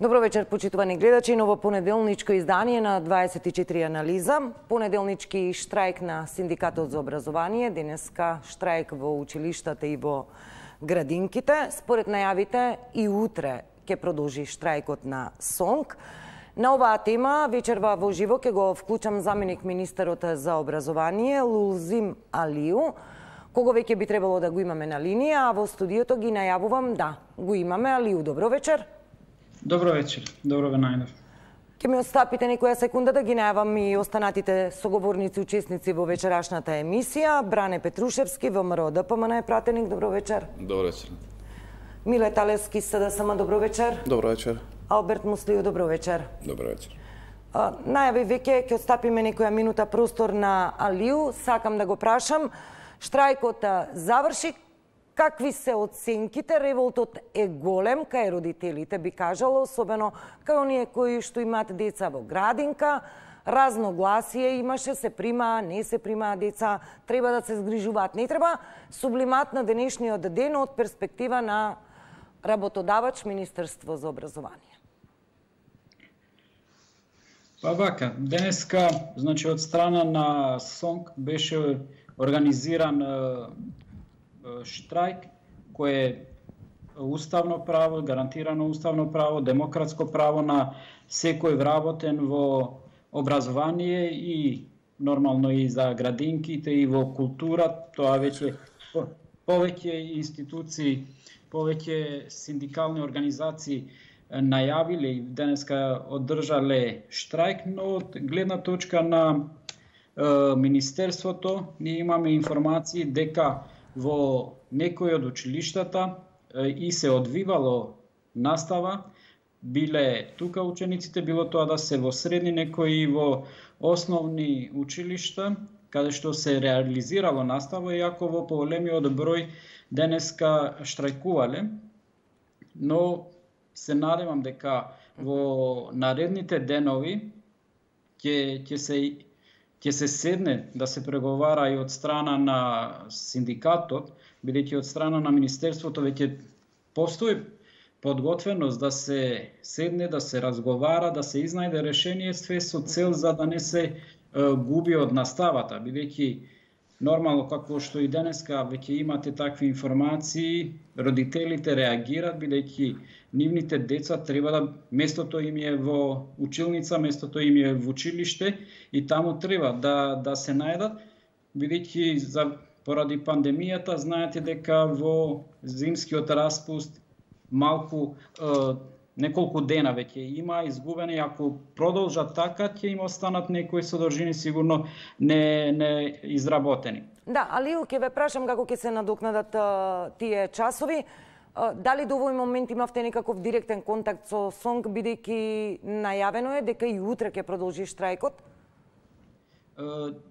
Добро вечер, почитувани гледачи. Ново понеделничко издание на 24 анализа. Понеделнички штрајк на Синдикатот за образование. Денеска штрајк во училиштата и во градинките. Според најавите и утре ќе продолжи штрајкот на СОНК. На оваа тема вечерва во живо ќе го вклучам заменик министерот за образование Лулзим Алиу, кого веќе би требало да го имаме на линија, а во студиото ги најавувам да го имаме. Алиу, добро вечер. Добро вечер, добро ве најдов. Ке ми отстапите некоја секунда да ги најавам и останатите соговорници, учесници во вечерашната емисија. Бране Петрушевски, ВМРО ДПМН е пратеник, добро вечер. Добро вечер. Миле Талевски, СДСМ, добро вечер. Добро вечер. Алберт Муслију, добро вечер. Добро вечер. Најави веќе ќе отстапиме некоја минута простор на Алиу. Сакам да го прашам, штрајкот заврши. Какви се оценките? Револтот е голем кај родителите, би кажала, особено кај оние кои што имаат деца во градинка. Разногласие имаше, се примаа, не се примаа деца, треба да се згрижуваат, не треба. Сублимат на денешниот ден од перспектива на работодавач Министерство за образование. Па вака, денеска, значи од страна на СОНК беше организиран штрајк кој е уставно право, гарантирано уставно право, демократско право на секој вработен во образование и нормално и за градинките и во култура. Тоа веќе повеќе институции, повеќе синдикални организации најавиле и денеска одржале штрајк, но од гледна точка на Министерството ние имаме информации дека во некои од училиштата и се одвивало настава, биле тука учениците, било тоа да се во средни, некои и во основни училишта, каде што се реализирало настава, иако во поголемиот број денеска штрајкувале. Но се надевам дека во наредните денови ќе се седне да се преговара и од страна на синдикатот, бидејќи од страна на Министерството веќе постои подготвеност да се седне, да се разговара, да се изнајде решение, све со цел за да не се губи од наставата, бидејќи нормално, како што и денеска веќе имате такви информации, родителите реагираат, бидејќи нивните деца треба да местото им е во училница, местото им е во училиште и таму треба да се најдат, бидејќи поради пандемијата знаете дека во зимскиот распуст малку неколку дена веќе има изгубени, ако продолжат така ќе им останат некои содржини сигурно не изработени. Да, Алиу, ќе ве прашам како ќе се надокнадат тие часови. Дали до овој момент имавте некаков директен контакт со СОНК, бидејќи најавено е дека и утре ќе продолжи штрајкот?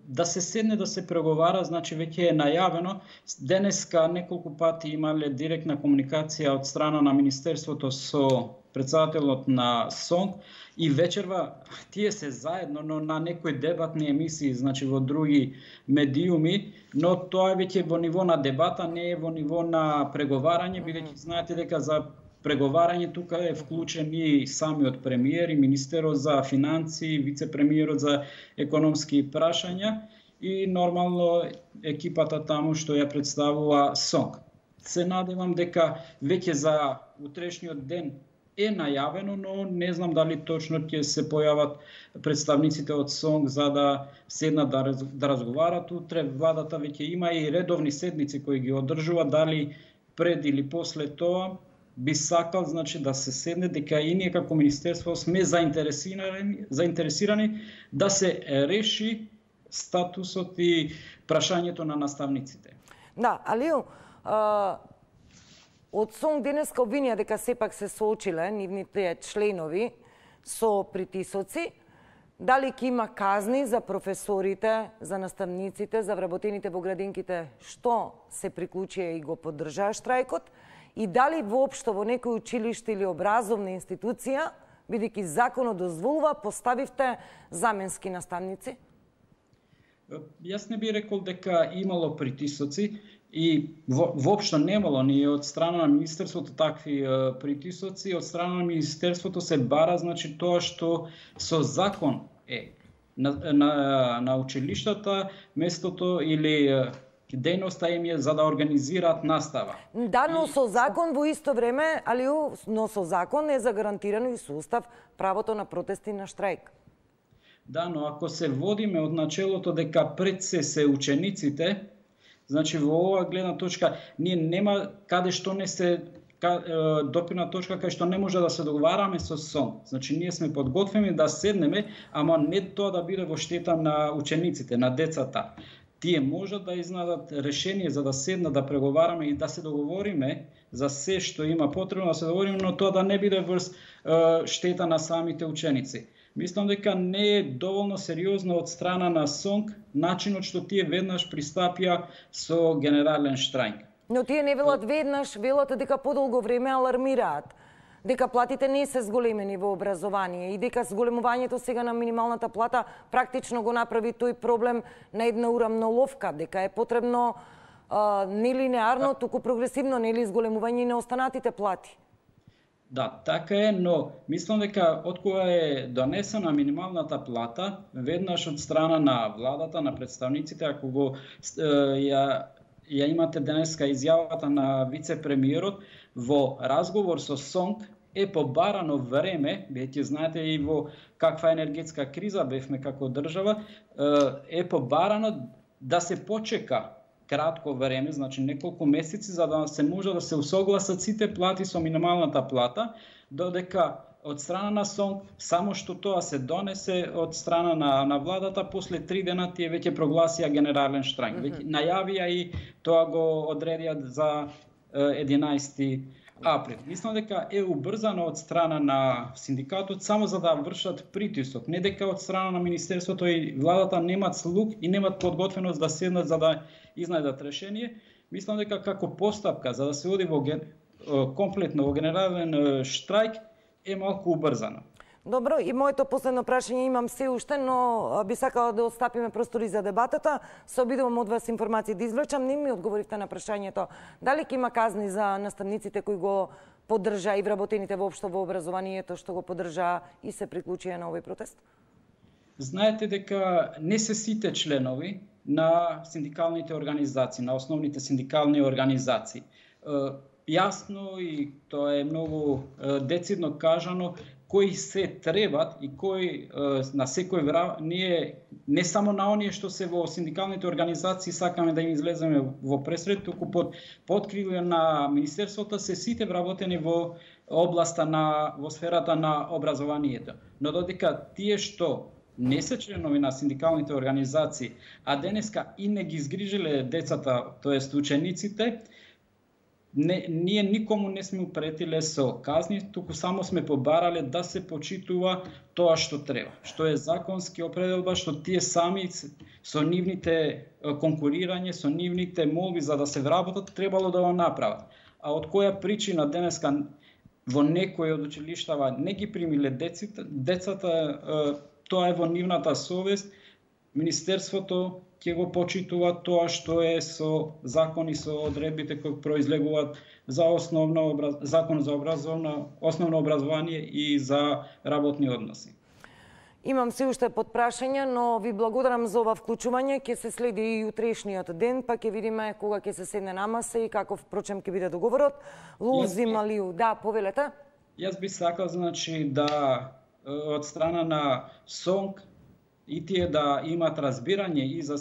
Да се седне да се преговара, значи веќе е најавено. Денеска неколку пати имале директна комуникација од страна на Министерството со председателот на СОНК и вечерва тие се заедно, но на некои дебатни емисии, значи во други медиуми, но тоа е веќе во ниво на дебата, не е во ниво на преговарање, бидејќи знаете дека за преговарање тука е вклучен и самиот премиер и министерот за финансии, вице-премиерот за економски прашања и нормално екипата таму што ја представува СОНК. Се надевам дека веќе за утрешниот ден е најавено, но не знам дали точно ќе се појават представниците од СОНК за да седнат да разговарат. Утре владата веќе има и редовни седници кои ги одржува, дали пред или после тоа би сакал, значи, да се седне, дека и ние како Министерство сме заинтересирани да се реши статусот и прашањето на наставниците. Да, Алиу, од СОНК денеска обвинија дека сепак се соочиле нивните членови со притисоци. Дали ќе има казни за професорите, за наставниците, за вработените во градинките што се приклучија и го поддржаа штрајкот? И дали воопшто во некој училиште или образовна институција, бидејќи законот дозволува, поставивте заменски наставници? Јас не би рекол дека имало притисоци. И воопшто немало ни од страна на Министерството такви притисоци, од страна на Министерството се бара, значи тоа што со закон е на училиштата, местото или дејноста им е за да организираат настава. Да, но со закон во исто време, но со закон е загарантирано и со устав правото на протести на штрајк. Да, но ако се водиме од начелото дека пред се учениците, значи во оваа гледна точка ние нема каде што не се допирна точка кај што не може да се договараме со СОН. Значи ние сме подготвени да седнеме, ама не тоа да биде во штета на учениците, на децата. Тие можат да изнадат решение за да седнат да преговараме и да се договориме за се што има потребно да се договориме, но тоа да не биде врз штета на самите ученици. Мислам дека не е доволно сериозно од страна на СОНК начинот што тие веднаш пристапија со генерален штрајк. Но тие не велат веднаш, велат дека подолго време алармираат дека платите не се зголемени во образование и дека зголемувањето сега на минималната плата практично го направи тој проблем на една урамноловка, дека е потребно не линеарно, туку прогресивно, нели зголемување на останатите плати. Да, така е, но мислам дека откога е донесена минималната плата, веднаш од страна на владата, на представниците, ако го ја имате денеска изјавата на вице-премиерот, во разговор со СОНК е побарано време, веќе знаете и во каква енергетска криза бевме како држава, е побарано да се почека кратко време, значи неколку месеци, за да се може да се усогласат сите плати со минималната плата, додека од страна на СОНК, само што тоа се донесе од страна на владата, после 3 дена тие веќе прогласија генерален штрајк. Веќе најавија и тоа го одредија за 11 април. Мислам дека е убрзано од страна на синдикатот само за да вршат притисок, не дека од страна на Министерството и владата немат слух и немат подготвеност да седнат за да изнајдат решение. Мислам дека како постапка за да се оди во комплетно во генерален штрајк е малку убрзано. Добро, и моето последно прашање имам се уште, но би сакала да отстапиме простори за дебатата. Се обидувам од вас информации да извлечам. Не ми одговоривте на прашањето дали ќе има казни за наставниците кои го поддржа и вработените воопшто во образованието што го поддржа и се приклучија на овој протест? Знаете дека не се сите членови на синдикалните организации, на основните синдикални организации. Јасно и тоа е многу децидно кажано кои се требат и кои на секој ние не само на оние што се во синдикалните организации сакаме да им излеземе во пресред, туку под открилие на Министерството се сите вработени во областа во сферата на образованието. Но додека тие што не се членови на синдикалните организации, а денеска и не ги згрижиле децата, тоест учениците, ние никому не сме упретиле со казни, туку само сме побарале да се почитува тоа што треба, што е законски определба, што тие сами со нивните конкурирање, со нивните молби за да се вработат, требало да го направат. А од која причина денеска во некои од училиштава не ги примиле децата, тоа е во нивната совест. Министерството ќе го почитува тоа што е со закон и со одредбите кои произлегуваат за закон за основно образование и за работни односи. Имам се уште подпрашања, но ви благодарам за ова вклучување. Ќе се следи и утрешниот ден, па ќе видиме кога ќе се седне на маса и каков впрочем ќе биде договорот. Лузи Малиу, да, повелете. Јас би сакал, значи, да од страна на СОНК и тие да имат разбирање и за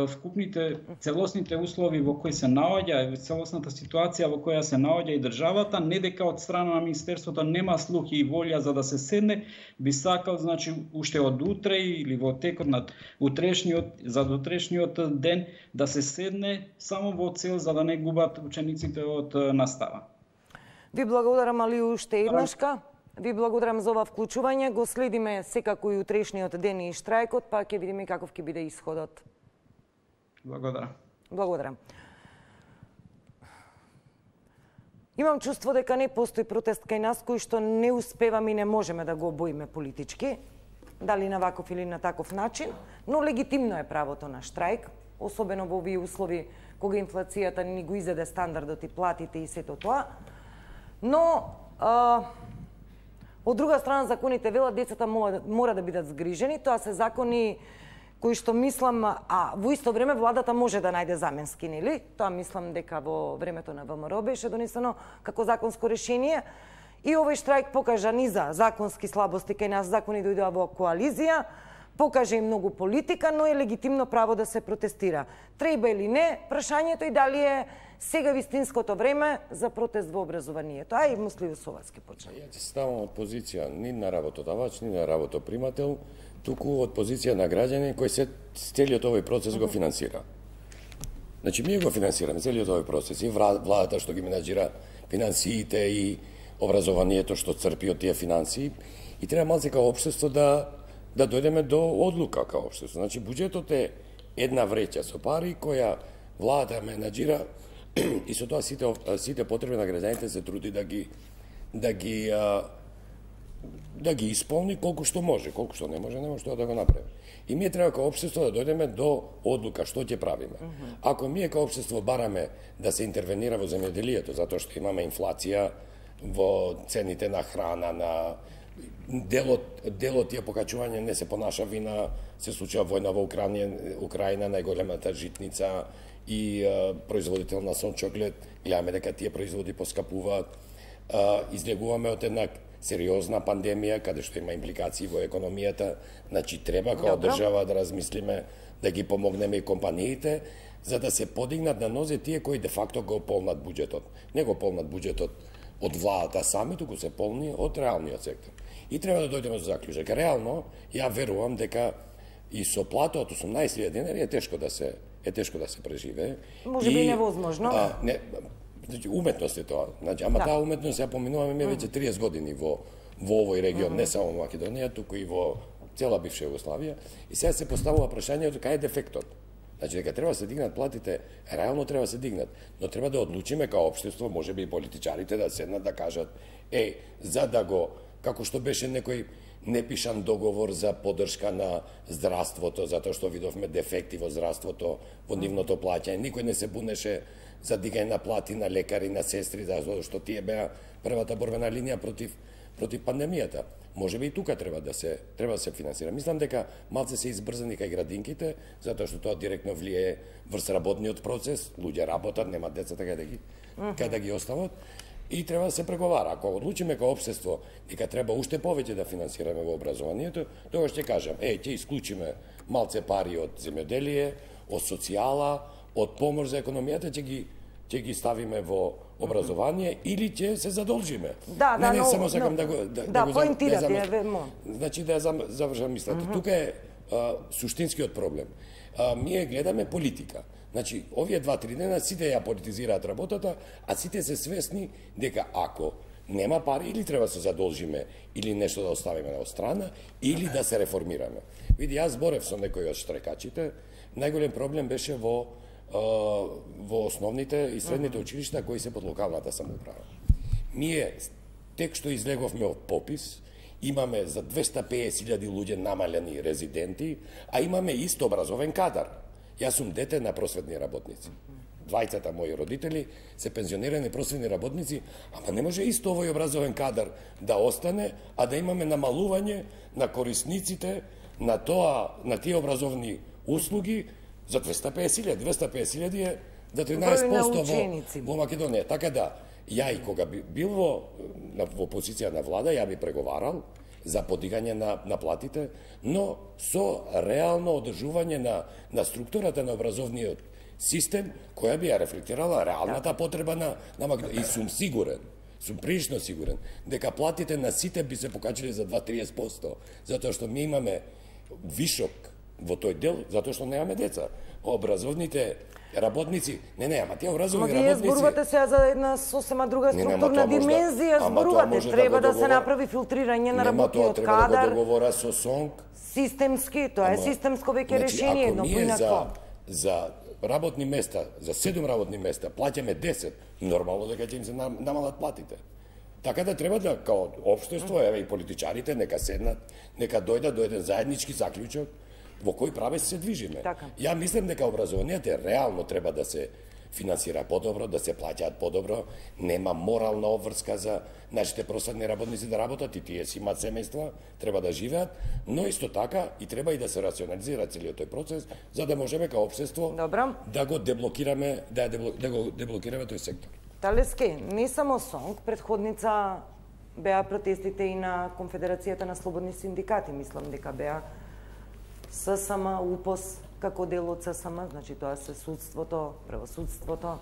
вкупните целосните услови во кои се наоѓа, целосната ситуација во која се наоѓа и државата, не дека од страна на Министерството нема слух и волја за да се седне, би сакал, значи, уште од утре или во текот на утрешниот ден да се седне само во цел за да не губат учениците од настава. Ви благодарам, али уште еднашка. Ви благодарам за ова вклучување. Го следиме секако и утрешниот ден и штрајкот, па ќе видиме каков ќе биде исходот. Благодарам. Благодарам. Имам чувство дека не постои протест кај нас кој што не успеваме и не можеме да го обоиме политички, дали на ваков или на таков начин, но легитимно е правото на штрајк, особено во овие услови кога инфлацијата ни го изеде стандардот и платите и сето тоа. Но, од друга страна, законите велат децата мора да бидат згрижени. Тоа се закони кои што мислам, во исто време владата може да најде заменски, нели? Тоа мислам дека во времето на ВМРО беше донесено како законско решение. И овој штрајк покажа низа законски слабости кај нас, закони дојдоа во коалиција, покаже и многу политика, но е легитимно право да се протестира. Треба или не, прашањето и дали е сега вистинското време за протест во образованието. Ај, Муслив Соваски почна. Ја ти ставам од позиција ни на работодавач, ни на работопримател, туку од позиција на граѓани кој се целиот овој процес го финансира. Значи, ние го финансираме целиот овој процес и владата што ги менаџира финансиите и образованието што црпи од тие финансии, и треба малце као општество да дојдеме до одлука као општество. Значи, буџетот е една вреќа со пари која владата менаџира и со тоа сите потреби на граѓаните се труди да ги исполни колку што може, колку што не може тоа да го направи. И ние треба као општество да дојдеме до одлука што ќе правиме. Ако ние као општество бараме да се интервенира во земјоделието затоа што имаме инфлација во цените на храна, на делот тие покачување не се по наша вина, се случува војна во Украина, најголемата житница и производител на сон чоклет, гледаме дека тие производи поскапуваат, излегуваме од една сериозна пандемија, каде што има импликации во економијата, значи треба као држава да размислиме да ги помогнеме и компаниите, за да се подигнат на нозе тие кои де факто го полнат буџетот. Не го полнат буџетот од владата сами, туку се полни од реалниот сектор. И треба да дојдеме до заклучок. Реално, ја верувам дека и со плата од 18.000 денари е тешко да се преживее. Може би невозможно. Значи, уметност е тоа. Значи, ама таа уметност ја поминуваме ми веќе 30 години во овој регион, не само во Македонија, туку и во цела бивша Југославија. И сега се поставува прашањето кај е дефектот. Значи, дека треба да се дигнат платите, реално треба да се дигнат, но треба да одлучиме као општество, може би и политичарите да седнат да кажат, за да го, како што беше некој непишан договор за поддршка на здравството, затоа што видовме дефекти во здравството, во нивното плаќање. Никој не се бунеше за дигање на плати на лекари, на сестри, затоа што тие беа првата борбена линија против пандемијата. Може би и тука треба да се финансира. Мислам дека малце се избрзани кај градинките, затоа што тоа директно влијае врз работниот процес, луѓе работат, немаат децата кај да ги остават. И треба да се преговара. Ако одлучиме као општество дека треба уште повеќе да финансираме во образованието, тогаш ќе кажам, ќе исклучиме малце пари од земјоделие, од социјала, од помош за економијата, ќе ги ставиме во образование или ќе се задолжиме. Не, само сакам да го поинтирате. Значи да завршам мислата. Тука е суштинскиот проблем. Ние гледаме политика. Значи, овие 2-3 дена сите ја политизираат работата, а сите се свесни дека ако нема пари, или треба да се задолжиме, или нешто да оставиме на страна, или да се реформираме. Види, јас зборев со некои од штрекачите, најголем проблем беше во основните и средните училишта кои се под локалната самоуправа. Ние, тек што излеговме од попис, имаме за 250.000 луѓе намалени резиденти, а имаме исто образовен кадар. Јас сум дете на просветни работници. Двајцата мои родители се пензионирани просветни работници, ама не може исто овој образовен кадар да остане, а да имаме намалување на корисниците на тие образовни услуги за 250.000. 250.000 е за 13% во Македонија. Така да, ја и кога би бил во позиција на влада, ја би преговарал за подигање на платите, но со реално одржување на структурата на образовниот систем, која би ја рефлектирала реалната потреба на Македонија. И сум прилично сигурен, дека платите на сите би се покачили за 2-30%, затоа што ми имаме вишок во тој дел, затоа што немаме деца. Образовните работници, ама тие образовни работници... Вие зборувате сега за една сосема друга структурна димензија, зборувате, треба да се направи филтрирање на работниот кадар. Треба да договора со СОНК. Системски, тоа е системско веќе решение, но поинако. За работни места, за 7 работни места, плаќаме 10, нормално дека ќе им се намалат платите. Така да треба да, као општество, и политичарите, нека седнат, нека дојдат до еден заеднички заклучок, во кој правец се движиме. Така. Ја мислам дека образованието реално треба да се финансира подобро, да се плаќаат подобро, нема морална обврска за нашите просветни работници да работат и тие си имаат семејства, треба да живеат, но исто така и треба и да се рационализира целиот тој процес за да можеме како општество да го деблокираме, да го деблокираме тој сектор. Талески, не само СОНК, предходница беа протестите и на Конфедерацијата на слободни синдикати, мислам дека беа ССМ, УПОС како дел од ССМ, значи тоа се судството, правосудството.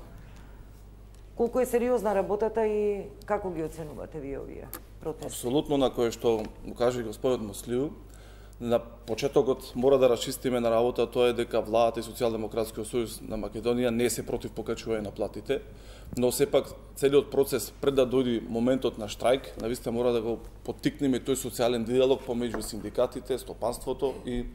Колку е сериозна работата и како ги оценувате вие овие протести? Апсолутно, на кое што му каже господинот Муслиу, на почетокот мора да расчистиме на работа, тоа е дека владата и Социјалдемократскиот сојуз на Македонија не се против покачување на платите, но сепак целиот процес пред да дојде моментот на штрајк, навистина мора да го поттикнеме тој социјален диалог помеѓу синдикатите, стопанството и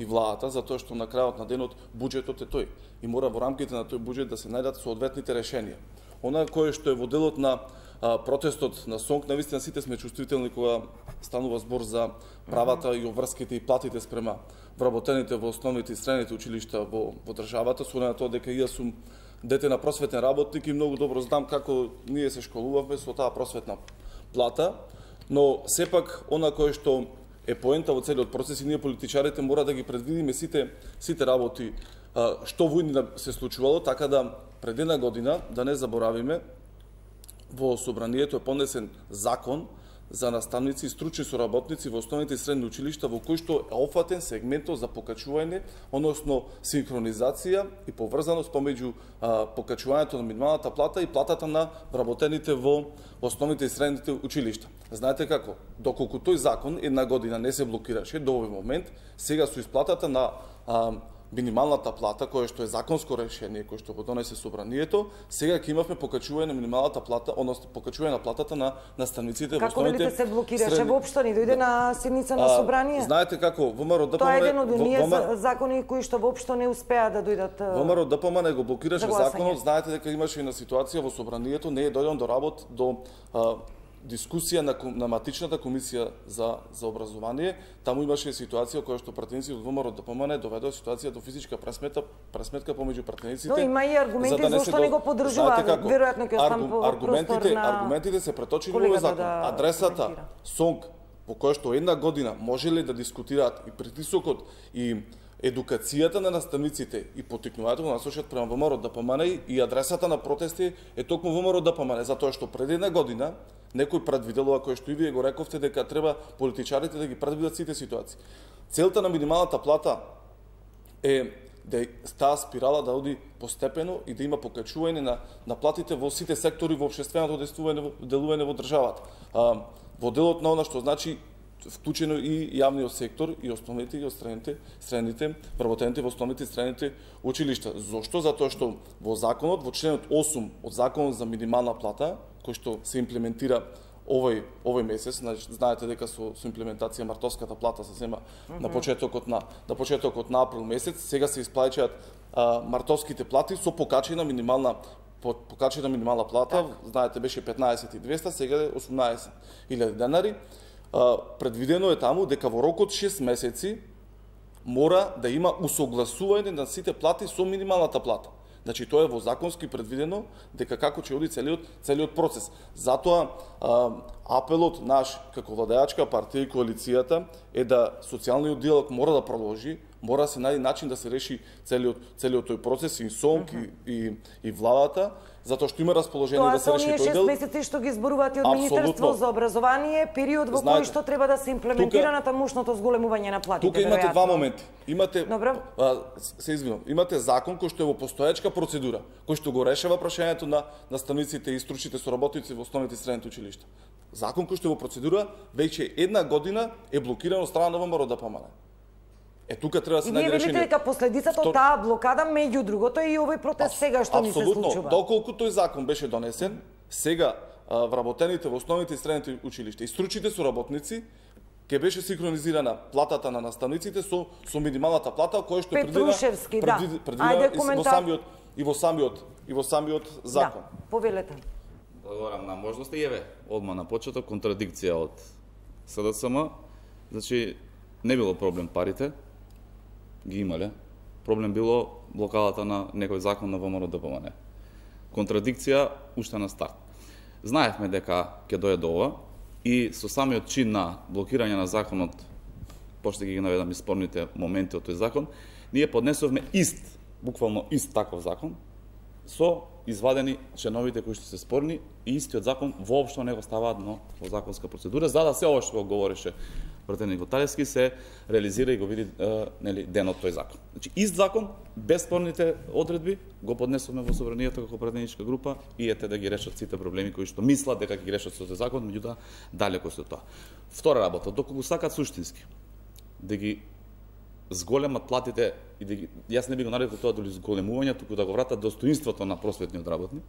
владата, затоа што на крајот на денот буџетот е тој и мора во рамките на тој буџет да се најдат соодветните решенија. Она кое што е во делот на протестот на СОНК, навистина сите сме чувствителни кога станува збор за правата и обврските и платите спрема вработените во основните и средните училишта во државата, со на тоа дека јас сум дете на просветен работник и многу добро знам како ние се школувавме со таа просветна плата, но сепак она кое што е поента во целиот процес и ние политичарите мора да ги предвидиме сите работи што во иднина се случувало, така да пред една година, да не заборавиме, во собранието е понесен закон за наставници и стручни соработници во основните и средни училишта, во кој што е опфатен сегментот за покачување, односно синхронизација и поврзаност помеѓу покачувањето на минималната плата и платата на вработените во основните и средните училишта. Знаете како? Доколку тој закон една година не се блокираше до овој момент, сега со исплатата на минималната плата, која што е законско решение, кој што го донесе собранието, сега ќе имавме покачување на минималната плата, односно покачување на платата на наставниците во основните. Како се блокираше воопшто, не дојде на седница на собрание? Знаете како, ВМРО ДПМН... Тоа е еден од оние закони кои што воопшто не успеа да дојдат... ВМРО ДПМН го блокираше законот, знаете дека имаше и на ситуација во собранието, не е дојден до работ, до дискусија на матичната комисија за образование. Таму имаше ситуација која што пратеници од ВМРО ДПМН доведоа ситуација до физичка пресметка помеѓу пратениците. Но има и аргументи зашто не го поддржуваат. Веројатно ќе остан простор на аргументите се преточени во овој закон. Адресата СОНК во која што една година можеле да дискутираат и притисокот и едукацијата на наставниците и поттикнувањето го насочат према ВМРО ДПМН и адресата на протести е токму ВМРО ДПМН, затоа што пред една година некој предвидело, а кој што и вие го рековте, дека треба политичарите да ги предвидат сите ситуации. Целта на минималната плата е да таа спирала да оди постепено и да има покачување на платите во сите сектори во општественото делување во државата. Во делот на она што значи вклучено и јавниот сектор, и основните, и средните, вработените во основните и средните училишта. Зошто? Затоа што во законот, во членот 8 од законот за минимална плата, кој што се имплементира овој месец, знаете дека со имплементација мартовската плата се зема на почетокот на април месец, сега се исплаќаат мартовските плати со покачена минимална плата, знаете беше 15.200, сега е 18.000 денари. Предвидено е таму дека во рок од 6 месеци мора да има усогласување на сите плати со минималната плата. Значи тоа е во законски предвидено дека како ќе оди целиот процес. Затоа апелот наш како владеачка партија и коалицијата е да социјалниот диалог мора да продолжи, мора да се најде начин да се реши целиот тој процес и СОНК и владата, затоа што има расположение да се реши тој дел. Тоа се оние 6 месеци што ги зборуваат и од Министерство за образование, период во кој што треба да се имплементира натамушното зголемување на платите. Тука имате два моменти. Имате закон кој што е во постоечка процедура, кој што го решава прашањето на наставниците и стручните соработници во основните и средните училишта. Закон кој што е во процедура веќе една година е блокиран од страна на ВМРО ДПМН. Тука треба да се најде решение. И вие велите дека последицата од таа блокада меѓу другото е и овој протест сега што ни се случува. Апсолутно. Доколку тој закон беше донесен, сега вработените во основните и средните училишта и стручните соработници ќе беше синхронизирана платата на наставниците со минималната плата која што предвидена и во самиот закон. Да, повелете. Благодарам на можноста и еве одма на почеток контрадикција од СДСМ. Значи не било проблем парите, ги имале. Проблем било блокадата на некој закон на ВМРО ДПМН. контрадикција уште на старт. Знаевме дека ќе дојде до ова и со самиот чин на блокирање на законот, пошто ги наведам и спорните моменти од тој закон, ние поднесовме буквално ист таков закон, со извадени членовите кои што се спорни и истиот закон воопшто не го ставаат во законска процедура, за да се ова што го говореше пратеникот Талевски се реализира и го види денот тој закон. Значи, ист закон, без спорните одредби, го поднесовме во собранието како пратеничка група и ете да ги решат сите проблеми кои што мислат дека ги решат со тој закон, меѓутоа далеко со тоа. Втора работа, доколку сакат суштински да ги зголемат платите и да ги, јас не би го нарекол тоа дали зголемување, туку да го вратат достоинството на просветниот работник,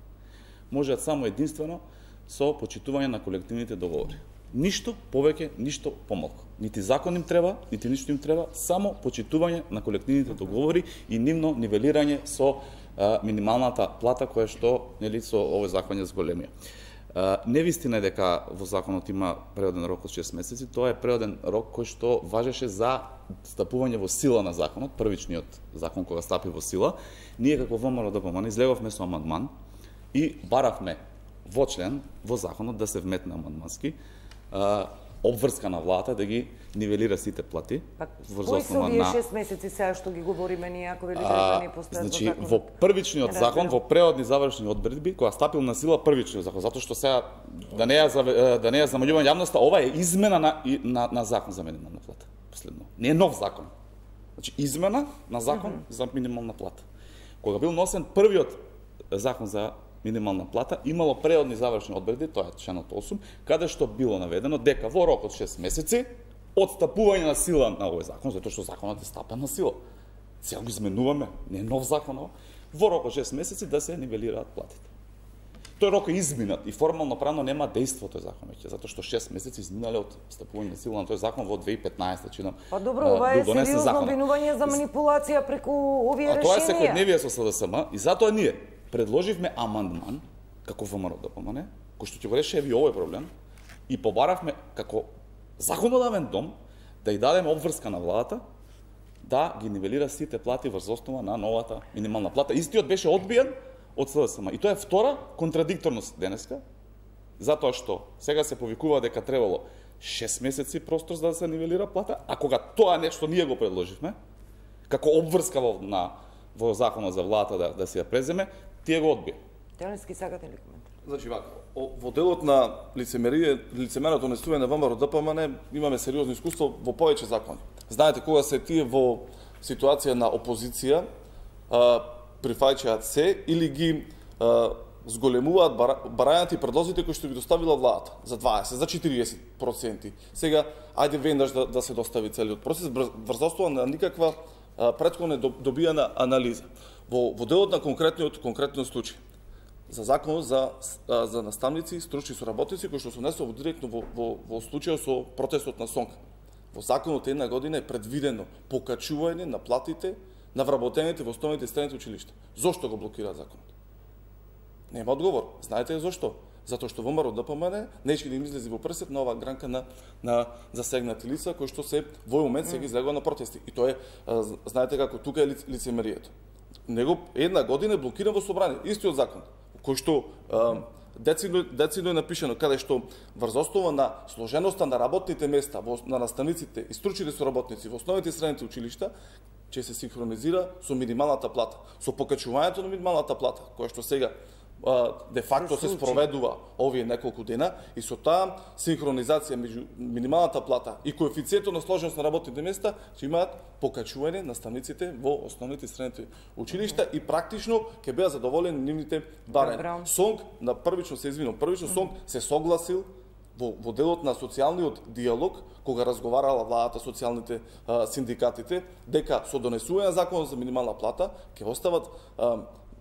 можеат само единствено со почитување на колективните договори. Ништо повеќе, ништо помалку. Нити закон им треба, нити ништо им треба, само почитување на колективните договори и нивно нивелирање со минималната плата која што со овој закон ја зголемија. Невистина е дека во законот има преоден рок од 6 месеци, тоа е преоден рок кој што важеше за стапување во сила на законот, првичниот закон кога стапи во сила. Ние како ВМРО-ДПМН излеговме со амандман и баравме во член, во законот да се вметне амандмански обврска на владата да ги нивелира сите плати. Кои се овие 6 месеци сега што ги говориме ние, ако велите да не постојат во законот? Во првичниот закон, во преодни завршни одредби, кога стапил на сила првичниот закон, затоа што сега да не ја замаѓува јавноста, ова е измена на закон за минимална плата. Последно. Не е нов закон. Значи измена на закон за минимална плата. Кога бил носен првиот закон за минимална плата, имало преодни завршни одредби, тоа е членот 8, каде што било наведено дека во рок од 6 месеци од стапување на сила на овој закон, затоа што законот е стапен на сила. Сега го изменуваме, не е нов закон, во рок од 6 месеци да се нивелираат платите. Тој рок е изминат и формално правно нема дејство тој закон веќе, затоа што 6 месеци изминале од стапување на сила на тој закон во 2015, чинам. Па добро, ова е сериозно обвинување за манипулација преку овие решенија. А тоа е секојдневие со СДСМ и затоа ние предложивме амандман како ВМРО-ДПМН, кој што ќе го реши и овој проблем и побаравме како законодавен дом да ја дадеме обврска на владата да ги нивелира сите плати врз основа на новата минимална плата. Истиот беше одбиен од СДСМ. И тоа е втора контрадикторност денеска, затоа што сега се повикува дека требало 6 месеци простор за да се нивелира плата, а кога тоа нешто ние го предложивме, како обврска во законот за владата да се ја преземе, тие го одбија. Талевски, сакате ли коментар? Значи, во делот на лицемерното несување на ВМРО-ДПМН имаме сериозно искуство во повеќе закони. Знаете, кога се тие во ситуација на опозиција, прифаќаат се или ги зголемуваат барањата и предлозите кои што ги доставила владата за 20, за 40%. Сега, ајде веднаш да се достави целиот процес, врз основа на никаква претходно добијана анализа. Во делот на конкретниот случај, за законот за наставници и стручни соработници, кои што се внесува директно во случајот со протестот на СОНК. Во законот една година е предвидено покачување на платите на вработените во основните и средните училишта. Зошто го блокираат законот? Нема одговор. Знаете зошто? Затоа што ВМРО-ДПМН нечки да им излези во прсет на оваа гранка на засегнати лица кои што се во момент се ги излегува на протести. И тоа е, знаете како тука е лицемерието. Него една година е блокиран во собрание, истиот закон, кој што децидно е напишано, каде што врз основа на сложеноста на работните места, на наставниците и стручните соработници во основните и средните училишта, ќе се синхронизира со минималната плата, со покачувањето на минималната плата, која што сега де факто се спроведува овие неколку дена и со таа синхронизација меѓу минималната плата и коефициентот на сложеност на работните места ќе имаат покачување наставниците во основните и средните училишта и практично ќе беа задоволени нивните барања. СОНК на првично СОНК се согласил во делот на социјалниот диалог, кога разговарала владата, социјалните синдикатите, дека со донесување на законот за минимална плата ќе остават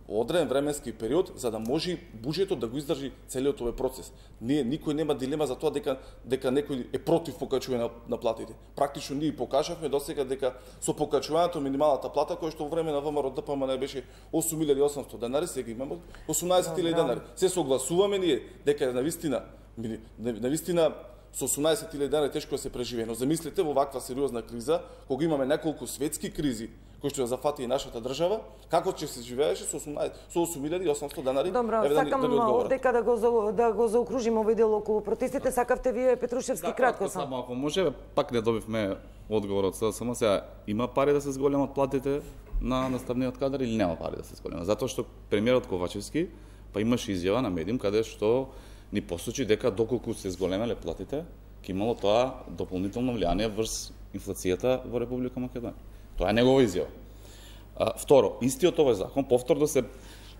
одреден временски период за да може буџетот да го издржи целиот овој процес. Никој нема дилема за тоа дека некој е против покачување на платите. Практично ние покажавме досега дека со покачувањето минималната плата, која што во време на ВМРО-ДПМН беше 8.800 денари, сега имаме 18.000 денари. Се согласуваме ние дека навистина со 18.000 денари тешко да се преживее. Но замислете во ваква сериозна криза, кога имаме неколку светски кризи кој што ја зафати и нашата држава, како ќе се живееше со 8.800 денари? Добро, сакам дека да го заокружиме овој дел околу протестите. Сакавте вие, Петрушевски, кратко само. Ако може, пак не добивме одговор од СДСМ. Сега, има пари да се зголемат платите на наставниот кадар или нема пари да се зголемат? Затоа што премиерот Ковачевски па имаше изјава на медиум каде што ни посочи дека доколку се зголемеле платите, ќе имало тоа дополнително влијание врз инфлацијата во Република Македонија. Тоа е негова изјава. Второ, истиот овој закон повторно се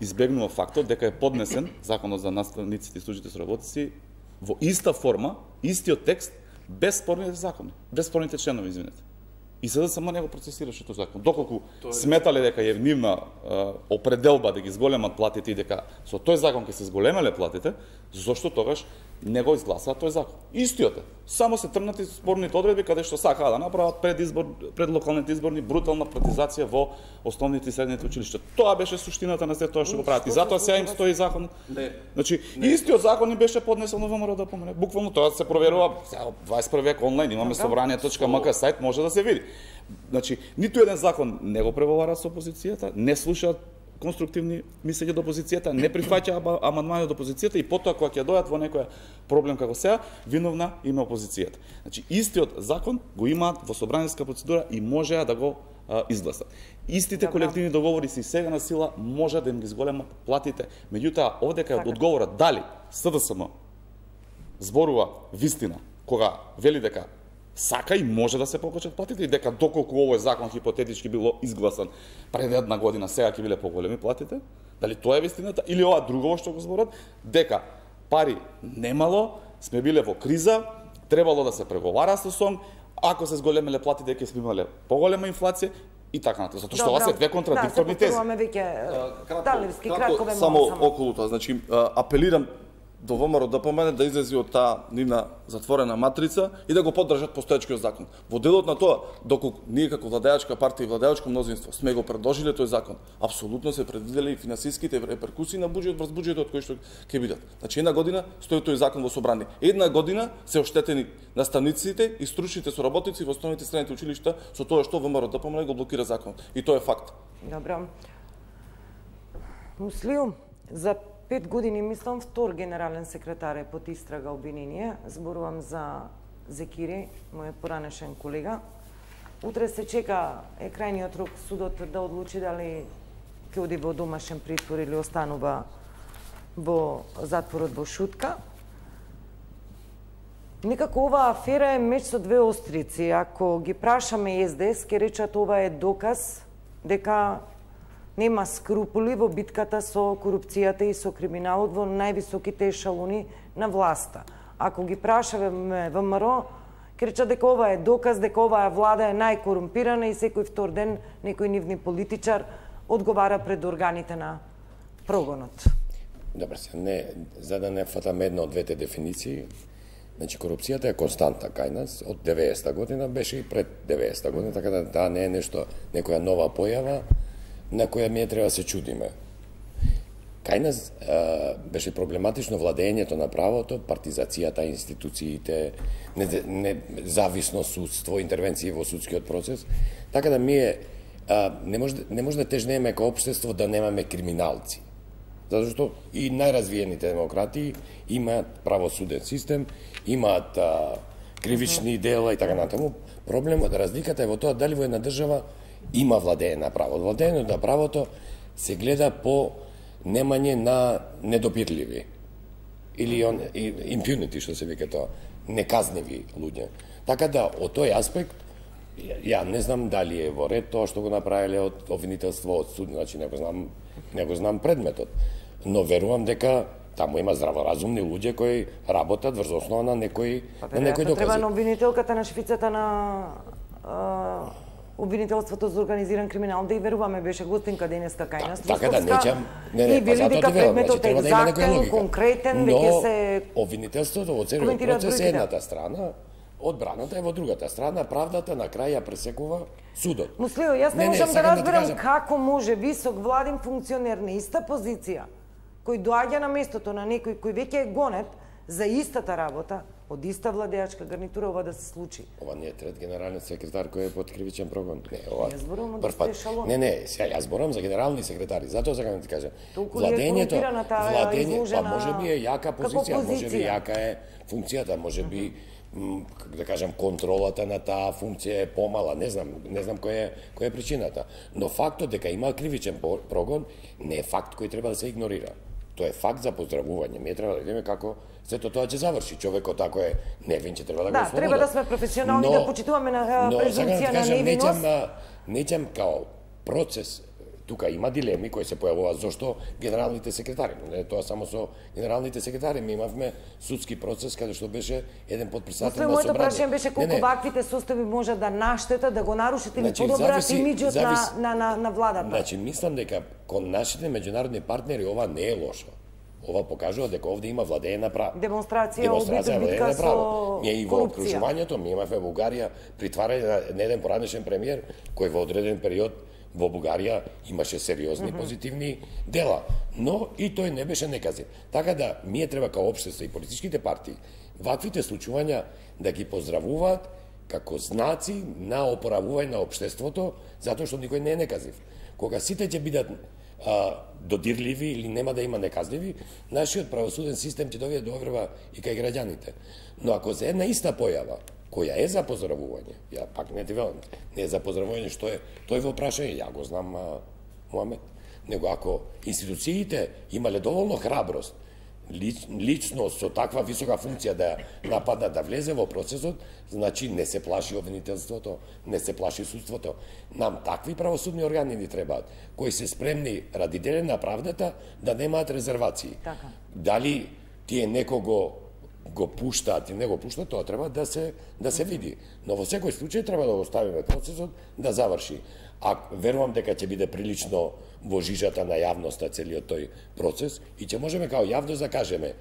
избегнува фактот дека е поднесен законот за наставниците и служителите соработници во иста форма, истиот текст, без спорните закони, без спорните членови, извинете. И СДСМ не го процесираше тој закон. Доколку сметале дека е нивна определба да ги зголемат платите и дека со тој закон ќе се зголемеле платите, зошто тогаш не го изгласаа тој закон? Истиот е. Само се тргнати спорните одредби каде што сакаа да направат пред локалните изборни брутална партизација во основните и средните училишта. Тоа беше суштината на се тоа што го прават. И затоа сега им стои закон. Значи, истиот закон им беше поднесен во ВМРО да помине. Буквално тоа се проверува 21 век онлайн, имаме собрание.мк сајт, може да се види. Значи, ниту еден закон не го превовара со опозицијата, не слушаат конструктивни мислења до опозицијата, не прифаќа амандмани од опозицијата и потоа кога ќе дојдат во некој проблем како сега, виновна има опозицијата. Значи, истиот закон го имаат во собраниска процедура и можеа да го изгласат. Истите колективни договори се и сега на сила може да им ги зголемат платите. Меѓутоа, овдека е одговорот дали СДСМ зборува вистина кога вели дека сака и може да се покачат платите и дека доколку овој закон хипотетички било изгласан пред една година, сега ќе биле поголеми платите, дали тоа е вистината или ова друго што го зборат, дека пари немало, сме биле во криза, требало да се преговара со СОН, ако се зголемеле платите ќе сме имале поголема инфлација и така натаму. Затоа што ова се две контрадикторни тези. Кратко само околу тоа, значи апелирам до ВМРО да помине да излези од таа нивна затворена матрица и да го поддржат постоечкиот закон. Во делот на тоа, доколку ние како владеачка партија и владеачко мнозинство сме го предложиле тој закон, апсолутно се предвидели и финансиските реперкусии на буџетот врз буџетот кој што ќе бидат. Значи една година стои тој закон во собрание. Една година се оштетени наставниците и стручните соработници во основните средните училишта со тоа што ВМРО да помине го блокира закон. И тоа е факт. Добро. Муслиум, за 5 години, мислам, втор генерален секретар е под истрага обвинение. Зборувам за Зекири, мојот поранешен колега. Утре се чека, е крајниот рок судот да одлучи дали ќе оди во домашен притвор или останува во затворот во Шутка. Некако оваа афера е меч со две острици. Ако ги прашаме СДС, ќе речат ова е доказ дека нема скрупули во битката со корупцијата и со криминалот во највисоките ешалони на власта. Ако ги прашаме ВМРО, ќе речат дека ова е доказ дека оваа влада е најкорумпирана и секој втор ден некој нивни политичар одговара пред органите на прогонот. Добро, за да не фатаме една од двете дефиниции, значи корупцијата е константна кај нас од 90-та година, беше и пред 90-та година, така да таа не е нешто, некоја нова појава на која ми треба да се чудиме. Кај нас беше проблематично владењето на правото, партизацијата, институциите, независно судство, интервенции во судскиот процес, така да не може да тежнеме како општество да немаме криминалци. Затоа што и најразвиените демократии имаат правосуден систем, имаат кривични дела и така натаму. Проблемот, разликата е во тоа дали во една држава има владење на право. Владењето на правото се гледа по немање на недопирливи или impunity, што се вика тоа, неказниви луѓе. Така да, од тој аспект, ја не знам дали е во ред тоа што го направиле од обвинителство од суд, значи не го знам предметот, но верувам дека таму има здраворазумни луѓе кои работат врз основа на некои докази. Треба на обвинителката на шефицата на обвинителството за организиран криминал да и веруваме, беше гостинка денеска кај нас. Така да нечам, и вели дека предметот е екзактен, конкретен, веќе се обвинителството во целиот процес е едната страна, одбраната е во другата страна, правдата на крај ја пресекува судот. Муслио, јас не можам да разберам како може висок владин функционер на иста позиција, кој доаѓа на местото на некој кој веќе е гонет за истата работа од иста владеачка гарнитура ова да се случи. Ова не е трет генерален секретар кој е под кривичен прогон. Не, ова. Јас зборувам прв пат. Не, сега јас зборувам за генерални секретари. Затоа сакам да ти кажам. Владењето, па можеби е јака позиција, можеби јака е функцијата, можеби да кажам контролата на таа функција е помала, не знам која е причината. Но фактот дека има кривичен прогон не е факт кој треба да се игнорира. Тоа е факт за поздравување. Ми треба да видиме како сето тоа ќе заврши. Човекот ако е невин, ќе треба да го ослободи. Да, треба да сме професионални, да почитуваме на презумпција на невиност. Неќам као процес. Тука има дилеми кои се појавуваат зошто генералните секретари. Не тоа само со генералните секретари. Ми имавме судски процес каде што беше еден подпредседател на собрание. Моето прашање беше колку ваквите состави може да наштетат, да го нарушат или подобрат имиџот на владата. Значи, мислам дека кон нашите меѓународни партнери ова не е лошо. Ова покажува дека овде има владење на право. Демонстрација битка со ние и во окружувањето, ми имавме Бугарија притварање на еден поранешен премиер кој во одреден период во Бугарија имаше сериозни позитивни дела, но и тој не беше неказен. Така да, ние треба као општество и политичките партии ваквите случувања да ги поздравуваат како знаци на опоравување на општеството, затоа што никој не е неказив. Кога сите ќе бидат додирливи или нема да има неказливи, нашиот правосуден систем ќе доведе до оврва и кај граѓаните. Но ако за една иста појава која е за поздравување, ја пак не ти велам, не е за поздравување што е, тој во прашање, ја го знам Муамет, него ако институциите имале доволно храброст, лично со таква висока функција да нападна да влезе во процесот, значи не се плаши обвинителството, не се плаши судството. Нам такви правосудни органи ни требаат, кои се спремни ради делење на правдата да немаат резервации. Така. Дали тие некого го пуштаат и не го пуштаат, тоа треба да се види. Но во секој случај треба да го оставиме процесот да заврши. А верувам дека ќе биде прилично во жижата на јавноста целиот тој процес и ќе можеме као јавност да кажеме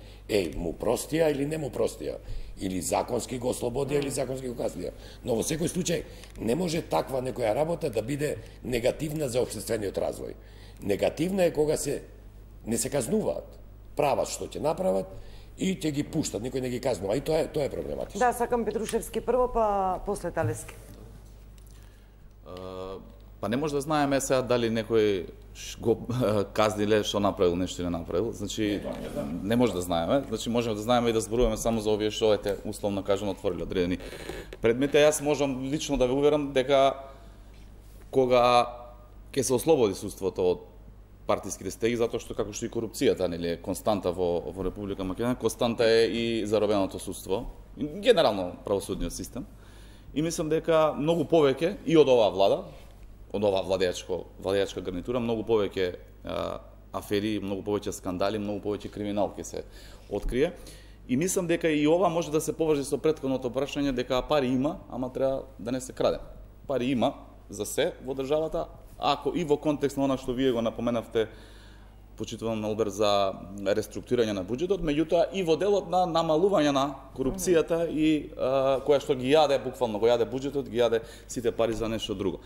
му простија или не му простија, или законски го ослободија или законски го казнија. Но во секој случај не може таква некоја работа да биде негативна за општествениот развој. Негативна е кога не се казнуваат, прават што ќе направат и ќе ги пуштат, никој не ги казнува. И тоа е проблематично. Да, сакам Петрушевски прво, па после Талески. Па не може да знаеме сега дали некој го казниле што направил, нешто не направил. Значи не може да знаеме. Значи можеме да знаеме и да зборуваме само за овие што ете условно кажано отвориле одредени предмети. Јас можам лично да ве уверам дека кога ќе се ослободи судството од партиските стеги, затоа што како што и корупцијата нели е константа во Република Македонија, константа е и заробеното судство, генерално правосудниот систем. И мислам дека многу повеќе и од оваа влада, од оваа владеачка гарнитура, многу повеќе афери, многу повеќе скандали, многу повеќе криминал ќе се открие. И мислам дека и ова може да се поврзи со претходното прашање дека пари има, ама треба да не се краде. Пари има за се во државата, ако и во контекст на она што вие го напоменавте, почитувам Алберт, за реструктурирање на буџетот, меѓутоа и во делот на намалување на корупцијата и која што ги јаде, буквално го јаде буџетот, ги јаде сите пари за нешто друго.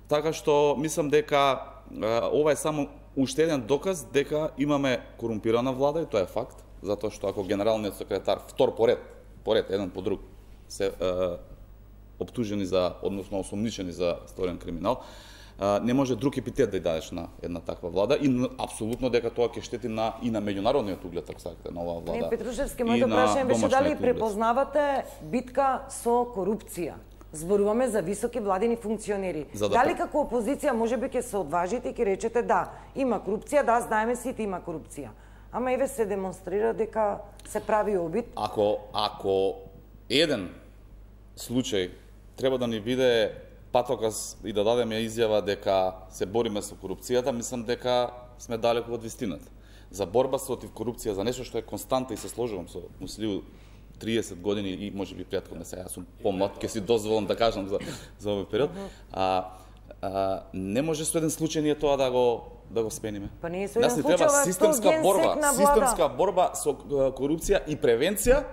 Така што мислам дека ова е само уште еден доказ дека имаме корумпирана влада и тоа е факт, затоа што ако генералниот секретар втор поред еден по друг се оптужени за, односно осомничени за сторен криминал, не може друг епитет да ја дадеш на една таква влада и апсолутно дека тоа ќе штети и на меѓународниот углед, ако сакате, на оваа влада. Не, Петрушевски, моето прашање беше дали препознавате битка со корупција? Зборуваме за високи владини функционери. Дали како опозиција можеби ќе се одважите и ќе речете да, има корупција, да, знаеме сите има корупција. Ама еве се демонстрира дека се прави обид. Ако еден случај треба да ни биде патоказ и да дадеме изјава дека се бориме со корупцијата, мислам дека сме далеку од вистината. За борба против корупција, за нешто што е константа и се сложувам со Муслиу 30 години и можеби претходно, сега јас сум помлад, ќе си дозволам да кажам за овој период. Не може со еден случај ние тоа да го спениме. Па не е со еден случај, системска борба со корупција и превенција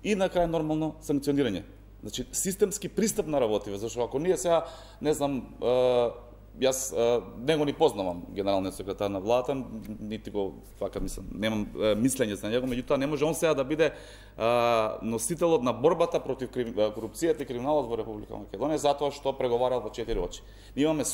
и на крај нормално санкционирање. Значи, системски пристап на работиве, зашто ако ние сега, не знам, Јас не го ни познавам генералниот секретар на владата, нити го вака мислам, немам мислење за него, меѓутоа не може он сега да биде носителот на борбата против корупцијата и криминалот во Република Македонија затоа што преговарал во 4 очи. Имаме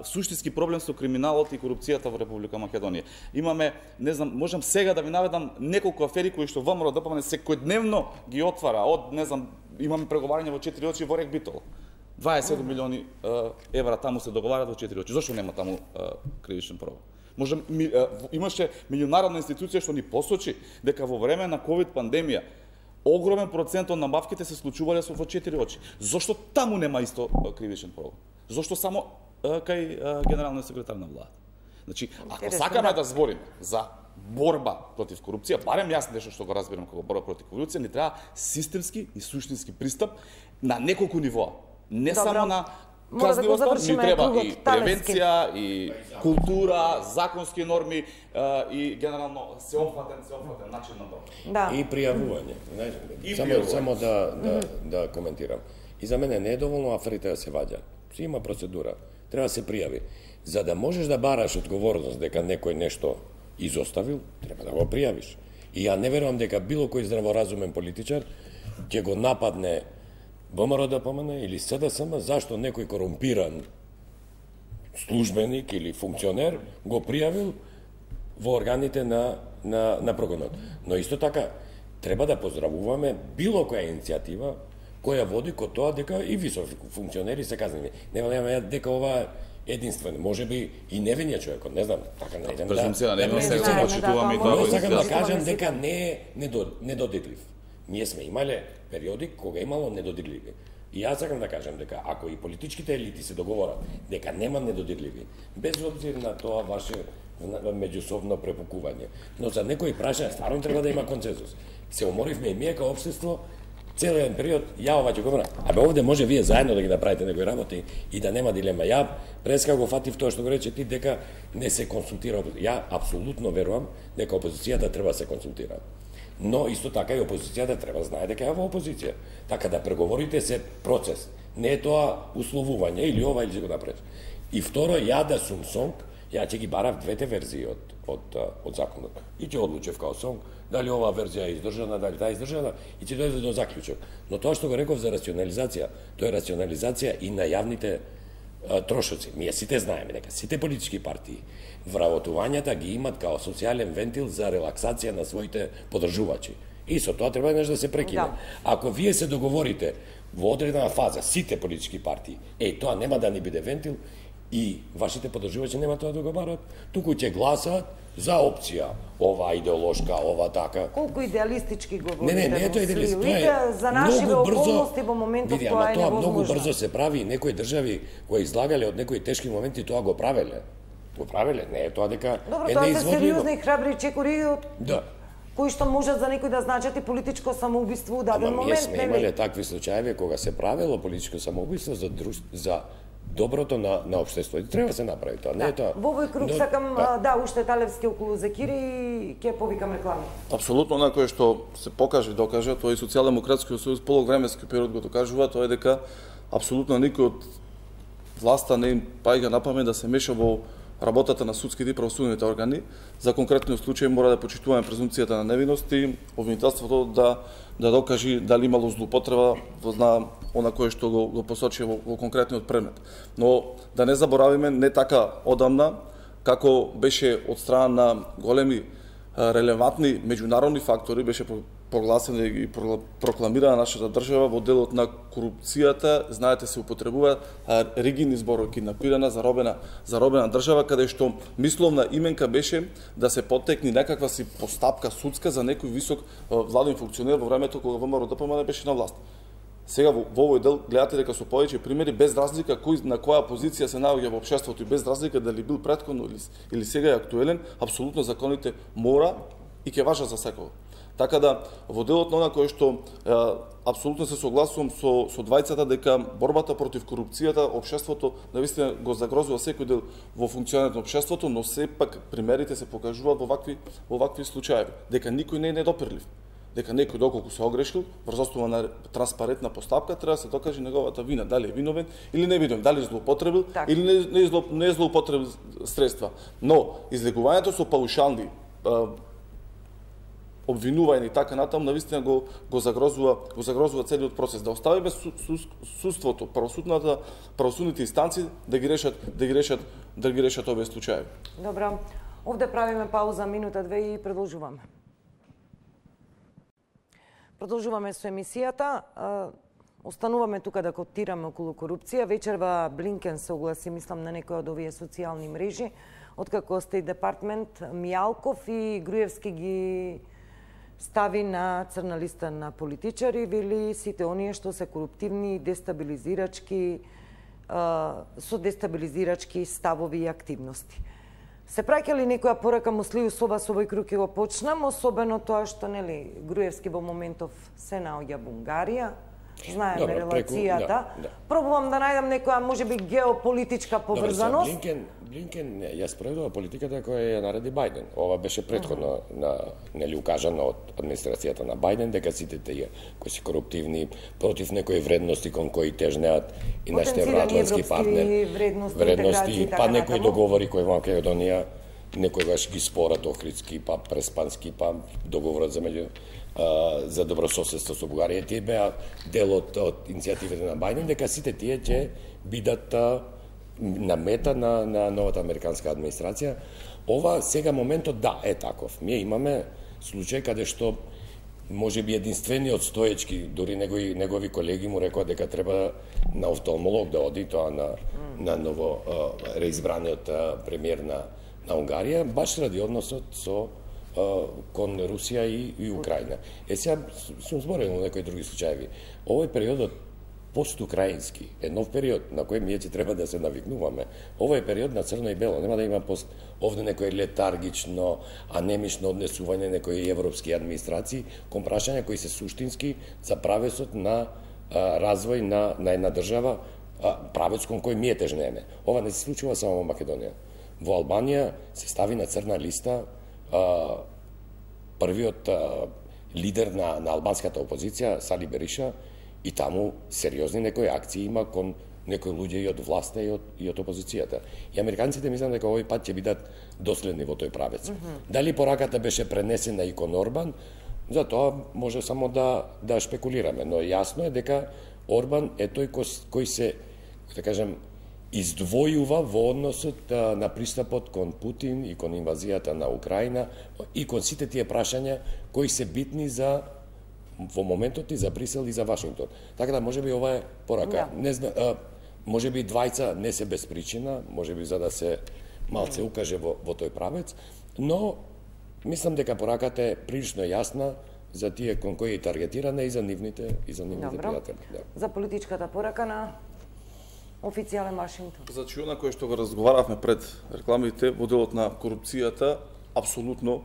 суштински проблем со криминалот и корупцијата во Република Македонија. Имаме, не знам, можам сега да ви наведам неколку афери кои што ВМРО ДПМН секојдневно ги отвара, од, не знам, имаме преговарање во 4 очи во Рек Битол. 27 милиони евра таму се договарат во 4 очи. Зошто нема таму кривичен прогон? Имаше меѓународна институција што ни посочи дека во време на ковид пандемија огромен процент од набавките се случувале во 4 очи. Зошто таму нема исто кривичен прогон? Зошто само кај генералниот секретар на владата? Значи, ако сакаме да збориме за борба против корупција, барем јас нешто што го разбирам како борба против корупција, ни треба системски и суштински пристап на неколку нивоа. Не само на казнивост, ни треба и превенција, и култура, законски норми и генерално сеопфатен начин на борба. И пријавување. Само да коментирам. И за мене не е доволно аферите да се ваѓаат. Си има процедура. Треба да се пријави. За да можеш да бараш одговорност дека некој нешто изоставил, треба да го пријавиш. И ја не верувам дека било кој здраворазумен политичар ќе го нападне ВМРО ДПМН или СДСМ зашто некој корумпиран службеник или функционер го пријавил во органите на прогонот. Но исто така треба да поздравуваме било која иницијатива која води ко тоа дека и високи функционери се казнени. Не велеме дека ова единствено, можеби и невиниот човекот, не знам, така најдем да. Презумција на невиност се почитуваме и тоа. Но сакам да кажам дека не е недодирлив. Ние сме имале периоди кога имало недодирливи. И јас сакам да кажам дека ако и политичките елити се договорат дека нема недодирливи, без обзир на тоа ваше меѓусобно препукување, но за некои прашања стварно треба да има консензус. Се уморивме и ние како општество целиот период, ја ова ќе го врна. Абе овде може вие заедно да ги направите некои работи и да нема дилема. Ја преска го фатив тоа што го рече ти дека не се консултира. Ја апсолутно верувам дека опозицијата треба да се консултира. Но исто така и опозицијата треба да знае дека е во опозиција. Така да преговорите се процес. Не е тоа условување или ова или ќе го направиш. И второ, ја да сум СОНК, ја ќе ги барав двете верзии од законот. И ќе одлучев као СОНК дали ова верзија е издржана, дали таа е издржана и ќе дојде до заклучок. Но тоа што го реков за рационализација, тоа е рационализација и на јавните трошоци. Ние сите знаеме дека сите политички партии вработувањата ги имат као социјален вентил за релаксација на своите поддржувачи. И со тоа треба нешто да се прекине. Ако вие се договорите во одредена фаза, сите политички партии, тоа нема да ни биде вентил и вашите поддржувачи нема тоа да го барат, туку ќе гласаат за опција, ова идеолошка, ова така. Колку идеалистички го говорите? Не е тоа идеалистички, тоа е за нашите околности во моментот тоа е невозможно. Тоа многу брзо се прави и некои држави кои излагале од некои тешки моменти тоа го правеле. Не е тоа дека е неизводливо. Добро, тоа се сериозни и храбри чекори кои што можат за некој да значат и политичко самоубиство у даден момент. Ние сме имале такви случаеви кога се правело политичко самоубиство за доброто на општеството. Треба да се направи тоа, не е тоа. Во овој круг сакам уште Талевски околу Зекири и ќе повикам реклами. Апсолутно на кое што се покаже и докаже, тоа и Социјалдемократскиот сојуз полувременски период го докажува, тоа е дека апсолутно никој од власта не им паѓа на памет да се меша во работата на судските и правосудните органи. За конкретниот случај мора да почитуваме презумпцијата на невиност и обвинителството да докаже дали имало злоупотреба на она кое што го посочи во конкретниот предмет. Но да не заборавиме, не така одамна, како беше од страна на големи релевантни меѓународни фактори, беше прогласена и прокламирана нашата држава во делот на корупцијата, знаете, се употребува ригидни зборови, киднапирана, заробена држава, каде што мисловна именка беше да се поттекне некаква си постапка судска за некој висок владен функционер во времето кога ВМРО ДПМН беше на власт. Сега во овој дел гледате дека со повеќе примери, без разлика кој на која позиција се наоѓа во општеството и без разлика дали бил претходно или сега е актуелен, апсолутно законите мора и ќе важат за секој. Така да, во делот на она кој што апсолутно се согласувам со двајцата дека борбата против корупцијата, општеството навистина го загрозува секој дел во функционирањето на општеството, но сепак примерите се покажуваат во вакви случаи, дека никој не е недопирлив. дека некој доколку се огрешил врз основа на транспарентна постапка треба да се докаже неговата вина, дали е виновен или не виновен, дали злоупотребил или не злоупотребил средства. Но излегувањето со паушални обвинувања и така натаму навистина го загрозува целиот процес. Да оставиме судството, правосудните инстанции да ги решат овие случаи. Добро. Овде правиме пауза минута-две и продолжуваме. Продолжуваме со емисијата. Остануваме тука да котираме околу корупција. Вечерва Блинкен се огласи, мислам, на некои од овие социјални мрежи, откако Стейт Департмент Мијалков и Груевски ги стави на црна листа на политичари, вели сите оние што се коруптивни и дестабилизирачки, со дестабилизирачки ставови и активности. Се праќа ли некоја порака Муслију со овој круг го почнам, особено тоа што нели Груевски во моментов се наоѓа во Унгарија, знаеме релацијата. Пробувам да најдам некоја можеби геополитичка поврзаност. Блинкен ја спроведува политиката која ја нареди Бајден. Ова беше претходно нели укажано од администрацијата на Бајден дека сите тие кои се коруптивни против некои вредности кон кои тежнеат и нашите евроатлантски партнери, вредности па некои договори кои во Македонија некогаш ги спорат Охридски, па Преспански, па договорот за добрососедство со Бугарија, тие беа дел од иницијативите на Бајден, дека сите тие ќе бидат на мета на новата американска администрација. Ова сега моментот е таков. Ние имаме случај каде што може би единствениот Стоечки, дури негови колеги му рекоа дека треба на офталмолог да оди, тоа на ново реизбраниот премиер на Унгарија, баш ради односот кон Русија и Украина. Сега сум зборил на некои други случаи. Овој периодот пост-украински е нов период на кој ние ќе треба да се навикнуваме. Овој период на црно и бело, нема да има овде некој летаргично, анемично однесување некои европски администрации кон прашања кои се суштински за правецот на развој на една држава, правец кон кој ние тежнеме. Ова не се случува само во Македонија. Во Албанија се стави на црна листа првиот лидер на албанската опозиција, Сали Бериша, и таму сериозни некои акции има кон некои луѓе и од власта и од опозицијата. И американците мислам дека овој пат ќе бидат доследни во тој правец. Дали пораката беше пренесена и кон Орбан, за тоа може само да шпекулираме, но јасно е дека Орбан е тој кој се, да кажем, издвојува во односот на пристапот кон Путин и кон инвазијата на Украина и кон сите тие прашања кои се битни за во моментот и за Брисел и за Вашингтон. Така да можеби ова е порака. Не знам, можеби двајца не се без причина, можеби за да се малце укаже во тој правец, но мислам дека пораката е прилично јасна за тие кон кои е таргетирана и за нивните пријатели. За политичката порака на официјален Вашингтон. Значи, она кое што го разговаравме пред рекламите во делот на корупцијата, апсолутно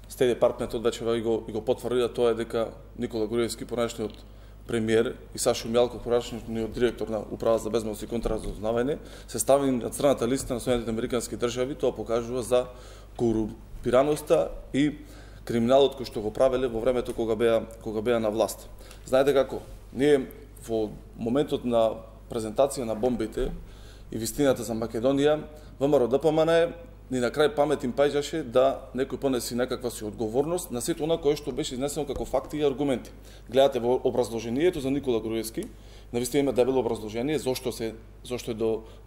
Стейт Департментот вече и го потврди, тоа е дека Никола Груевски, понешниот премиер, и Сашо Мијалков, понешниот директор на Управа за безбедност и контраразузнавање, се стави на црната листа на Соединетите американски држави. Тоа покажува за корумпираноста и криминалот кој што го правеле во времето кога беа на власт. Знаете како, ние во моментот на презентација на бомбите и вистината за Македонија, ВМРО ДПМН ни на крај памет им паѓаше да некој понеси некаква си одговорност на сето она кое што беше изнесено како факти и аргументи. Гледате во образложението за Никола Груевски, навистина има дебело образложение зошто е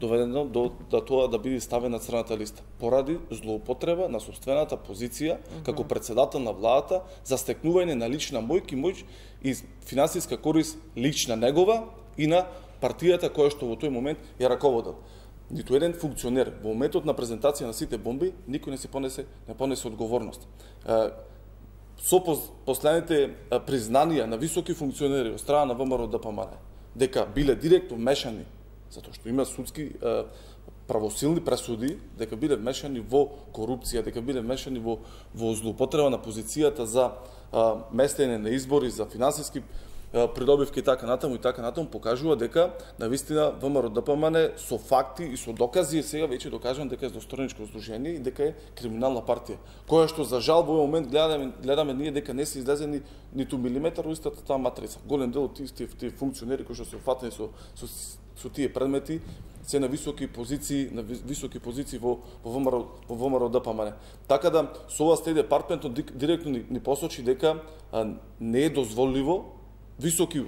доведено до тоа да биде ставен на црната листа. Поради злоупотреба на собствената позиција како председател на владата за стекнување на лична моќ и финансиска корист лична негова и на партијата која што во тој момент ја раководел. Ниту еден функционер во моментот на презентација на сите бомби никој не понесе одговорност. Со последните признанија на високи функционери од страна на ВМРО ДПМН дека биле директно вмешани, затоа што има судски правосилни пресуди, дека биле вмешани во корупција, дека биле вмешани во злоупотреба на позицијата за местење на избори, за финансиски придобивки и така натаму покажува дека навистина ВМРО ДПМН со факти и со докази е сега веќе докажан дека е злосторничко здружение и дека е криминална партија, која што за жал во овој момент гледаме ние дека не се излезени ниту милиметар во истата таа матрица. Голем дел од тие функционери кои што се фатени со тие предмети се на високи позиции во ВМРО ДПМН. Така да со ова Стејт департментот директно ни посочи дека не е дозволиво високи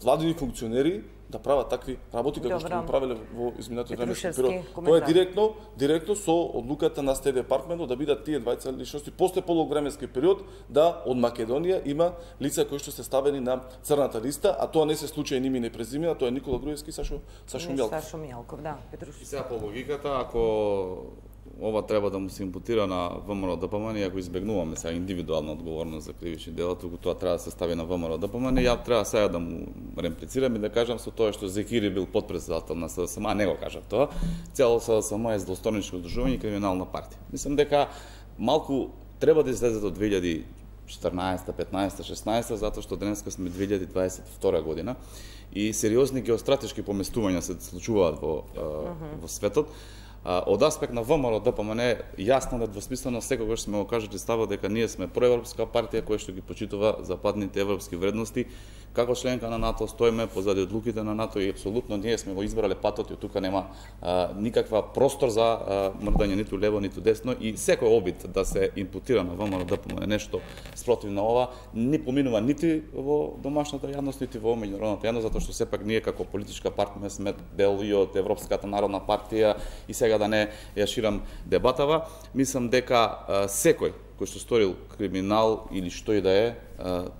владини функционери да прават такви работи како што го правеле во изминатиот временски период. Тоа е директно со одлуката на Стејт департментот да бидат тие двајца личности после полог временски период да од Македонија има лица кои што се ставени на црната листа, а тоа не се случај ни име и презиме, тоа е Никола Груевски и Сашо Мјалков. Сашо Мјалков, да, Петрушевски. И сега по логиката, ако ова треба да му се импутира на ВМРО ДПМН, ако избегнуваме сега индивидуална одговорност за кривични дела, туку тоа треба да се стави на ВМРО ДПМН, ја треба сега да му реплицирам и да кажам со тоа што Зекири бил подпредседател на СДСМ, а не го кажав тоа. Цело СДСМ е злосторничко здружување и криминална партија. Мислам дека малку треба да излезе до 2014, 15, 16, затоа што денеска сме 2022 година и сериозни геостратешки поместувања се случуваат во светот. Од аспект на ВМРО ДПМН е јасно недвосмислено секогаш сме го кажали ставот дека ние сме проевропска партија која што ги почитува западните европски вредности. Како членка на НАТО стоиме позади одлуките на НАТО и апсолутно ние сме го избрале патот и тука нема никаква простор за мрдање ниту лево ниту десно и секој обид да се импутира на ВМРО ДПМН нешто спротив на ова не поминува нити во домашната јавност нити во меѓународната јавност, затоа што сепак ние како политичка партија сме дел и од Европската народна партија и сега да не ја ширам дебатава. Мислам дека секој кој што сторил криминал или што и да е,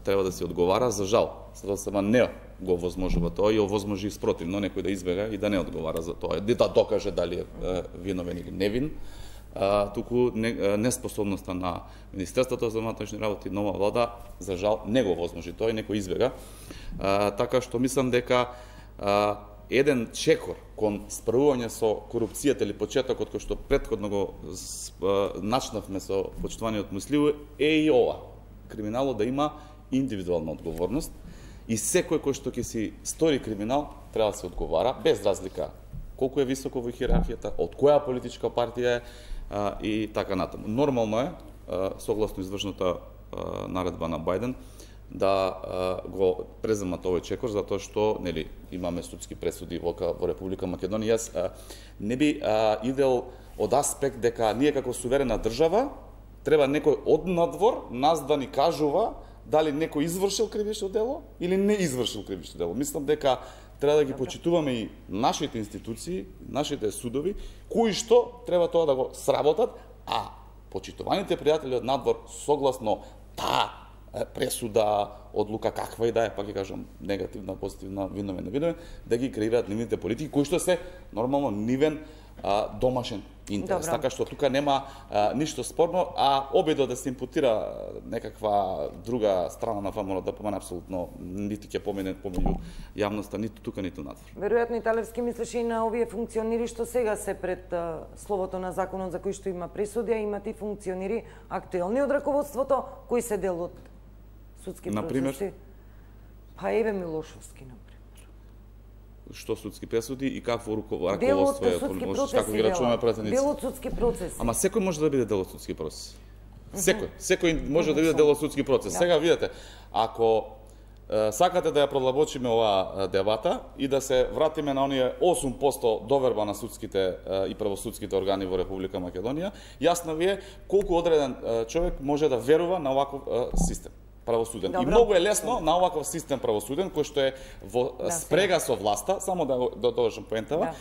треба да се одговара. За жал, СДСМ не го возможува тоа и овозможи спротивно некој да избега и да не одговара за тоа, да докаже дали е виновен или невин. Туку неспособноста на Министерството за внатрешни работи и нова влада, за жал, не го возможи тоа и некој избега. Така што мислам дека еден чекор кон справување со корупцијата или почетокот кој што претходно го начнавме со почитуваниот Муслиу е и ова. Криминалот да има индивидуална одговорност и секој кој што ќе си стори криминал треба да се одговара без разлика колку е високо во иерархијата, од која политичка партија е и така натаму. Нормално е, согласно извршната наредба на Бајден, да го преземат овој чекор, затоа што нели имаме судски пресуди во Република Македонија. Јас не би идел од аспект дека ние како суверена држава треба некој од надвор нас да ни кажува дали некој извршил кривично дело или не извршил кривично дело. Мислам дека треба да ги почитуваме и нашите институции, нашите судови, кои што треба тоа да го сработат, а почитуваните пријатели од надвор согласно таа пресуда, одлука каква и да е, пак ќе кажам негативна, позитивна, виновен, да ги креираат нивните политики, кои што се нормално нивен домашен интерес. Добро. Така што тука нема ништо спорно, а обидот да се импутира некаква друга страна на ВМРО ДПМН апсолутно нити ќе помине помеѓу јавноста, ниту тука, ниту надвор. Веројатно Италевски мислиш и на овие функционери што сега се пред словото на законот за кој што има пресуди, а имат и функционери актуелни од раководството, кои се дел од судски процеси. Па Еве Милошовски, например. Што судски пресуди и какво раководство е, како ги рачуваме пратеници. Дел од судски процеси. Ама секој може да биде дел од судски процес. Секој може да биде дел од судски процес. Сега видете, ако сакате да ја продлабочиме оваа дебата и да се вратиме на оние 8% доверба на судските и правосудските органи во Република Македонија, јасно ви е колку одреден човек може да верува на оваков систем правосуден. Добро. И многу е лесно на оваков систем правосуден, кој што е во спрега со власта, само да довршам поентава,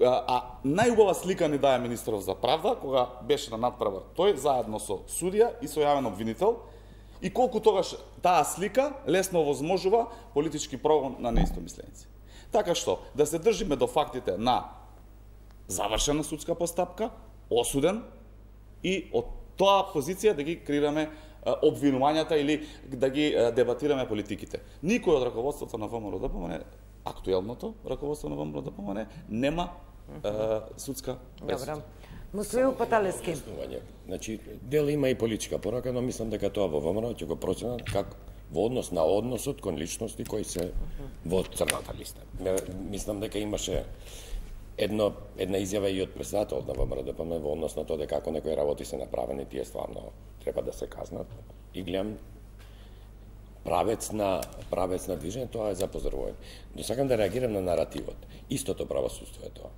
а најубава слика ни дае министерот за правда, кога беше на надпревар тој, заедно со судија и со јавен обвинител, и колку тогаш таа слика лесно возможува политички прогон на неистомисленици. Така што, да се држиме до фактите на завршена судска постапка, осуден, и од тоа позиција да ги креираме обвинувањата или да ги дебатираме политиките. Никој од раководството на ВМРО ДПМН, актуелното раководство на ВМРО ДПМН, нема судска пресуда. Добро. Муслиу Паталевски. Значи, дел има и политичка порака, но мислам дека тоа во ВМРО ќе го проценат во однос на односот кон личности кои се во црната листа. Мислам дека имаше една изјава и од председателот на ВМРО-ДПМН во однос на тоа дека ако некои работи се направени, тие стварно треба да се казнат. И гледам правец на движење, тоа е за поздравување. Но сакам да реагирам на наративот. Истото правосудство е тоа.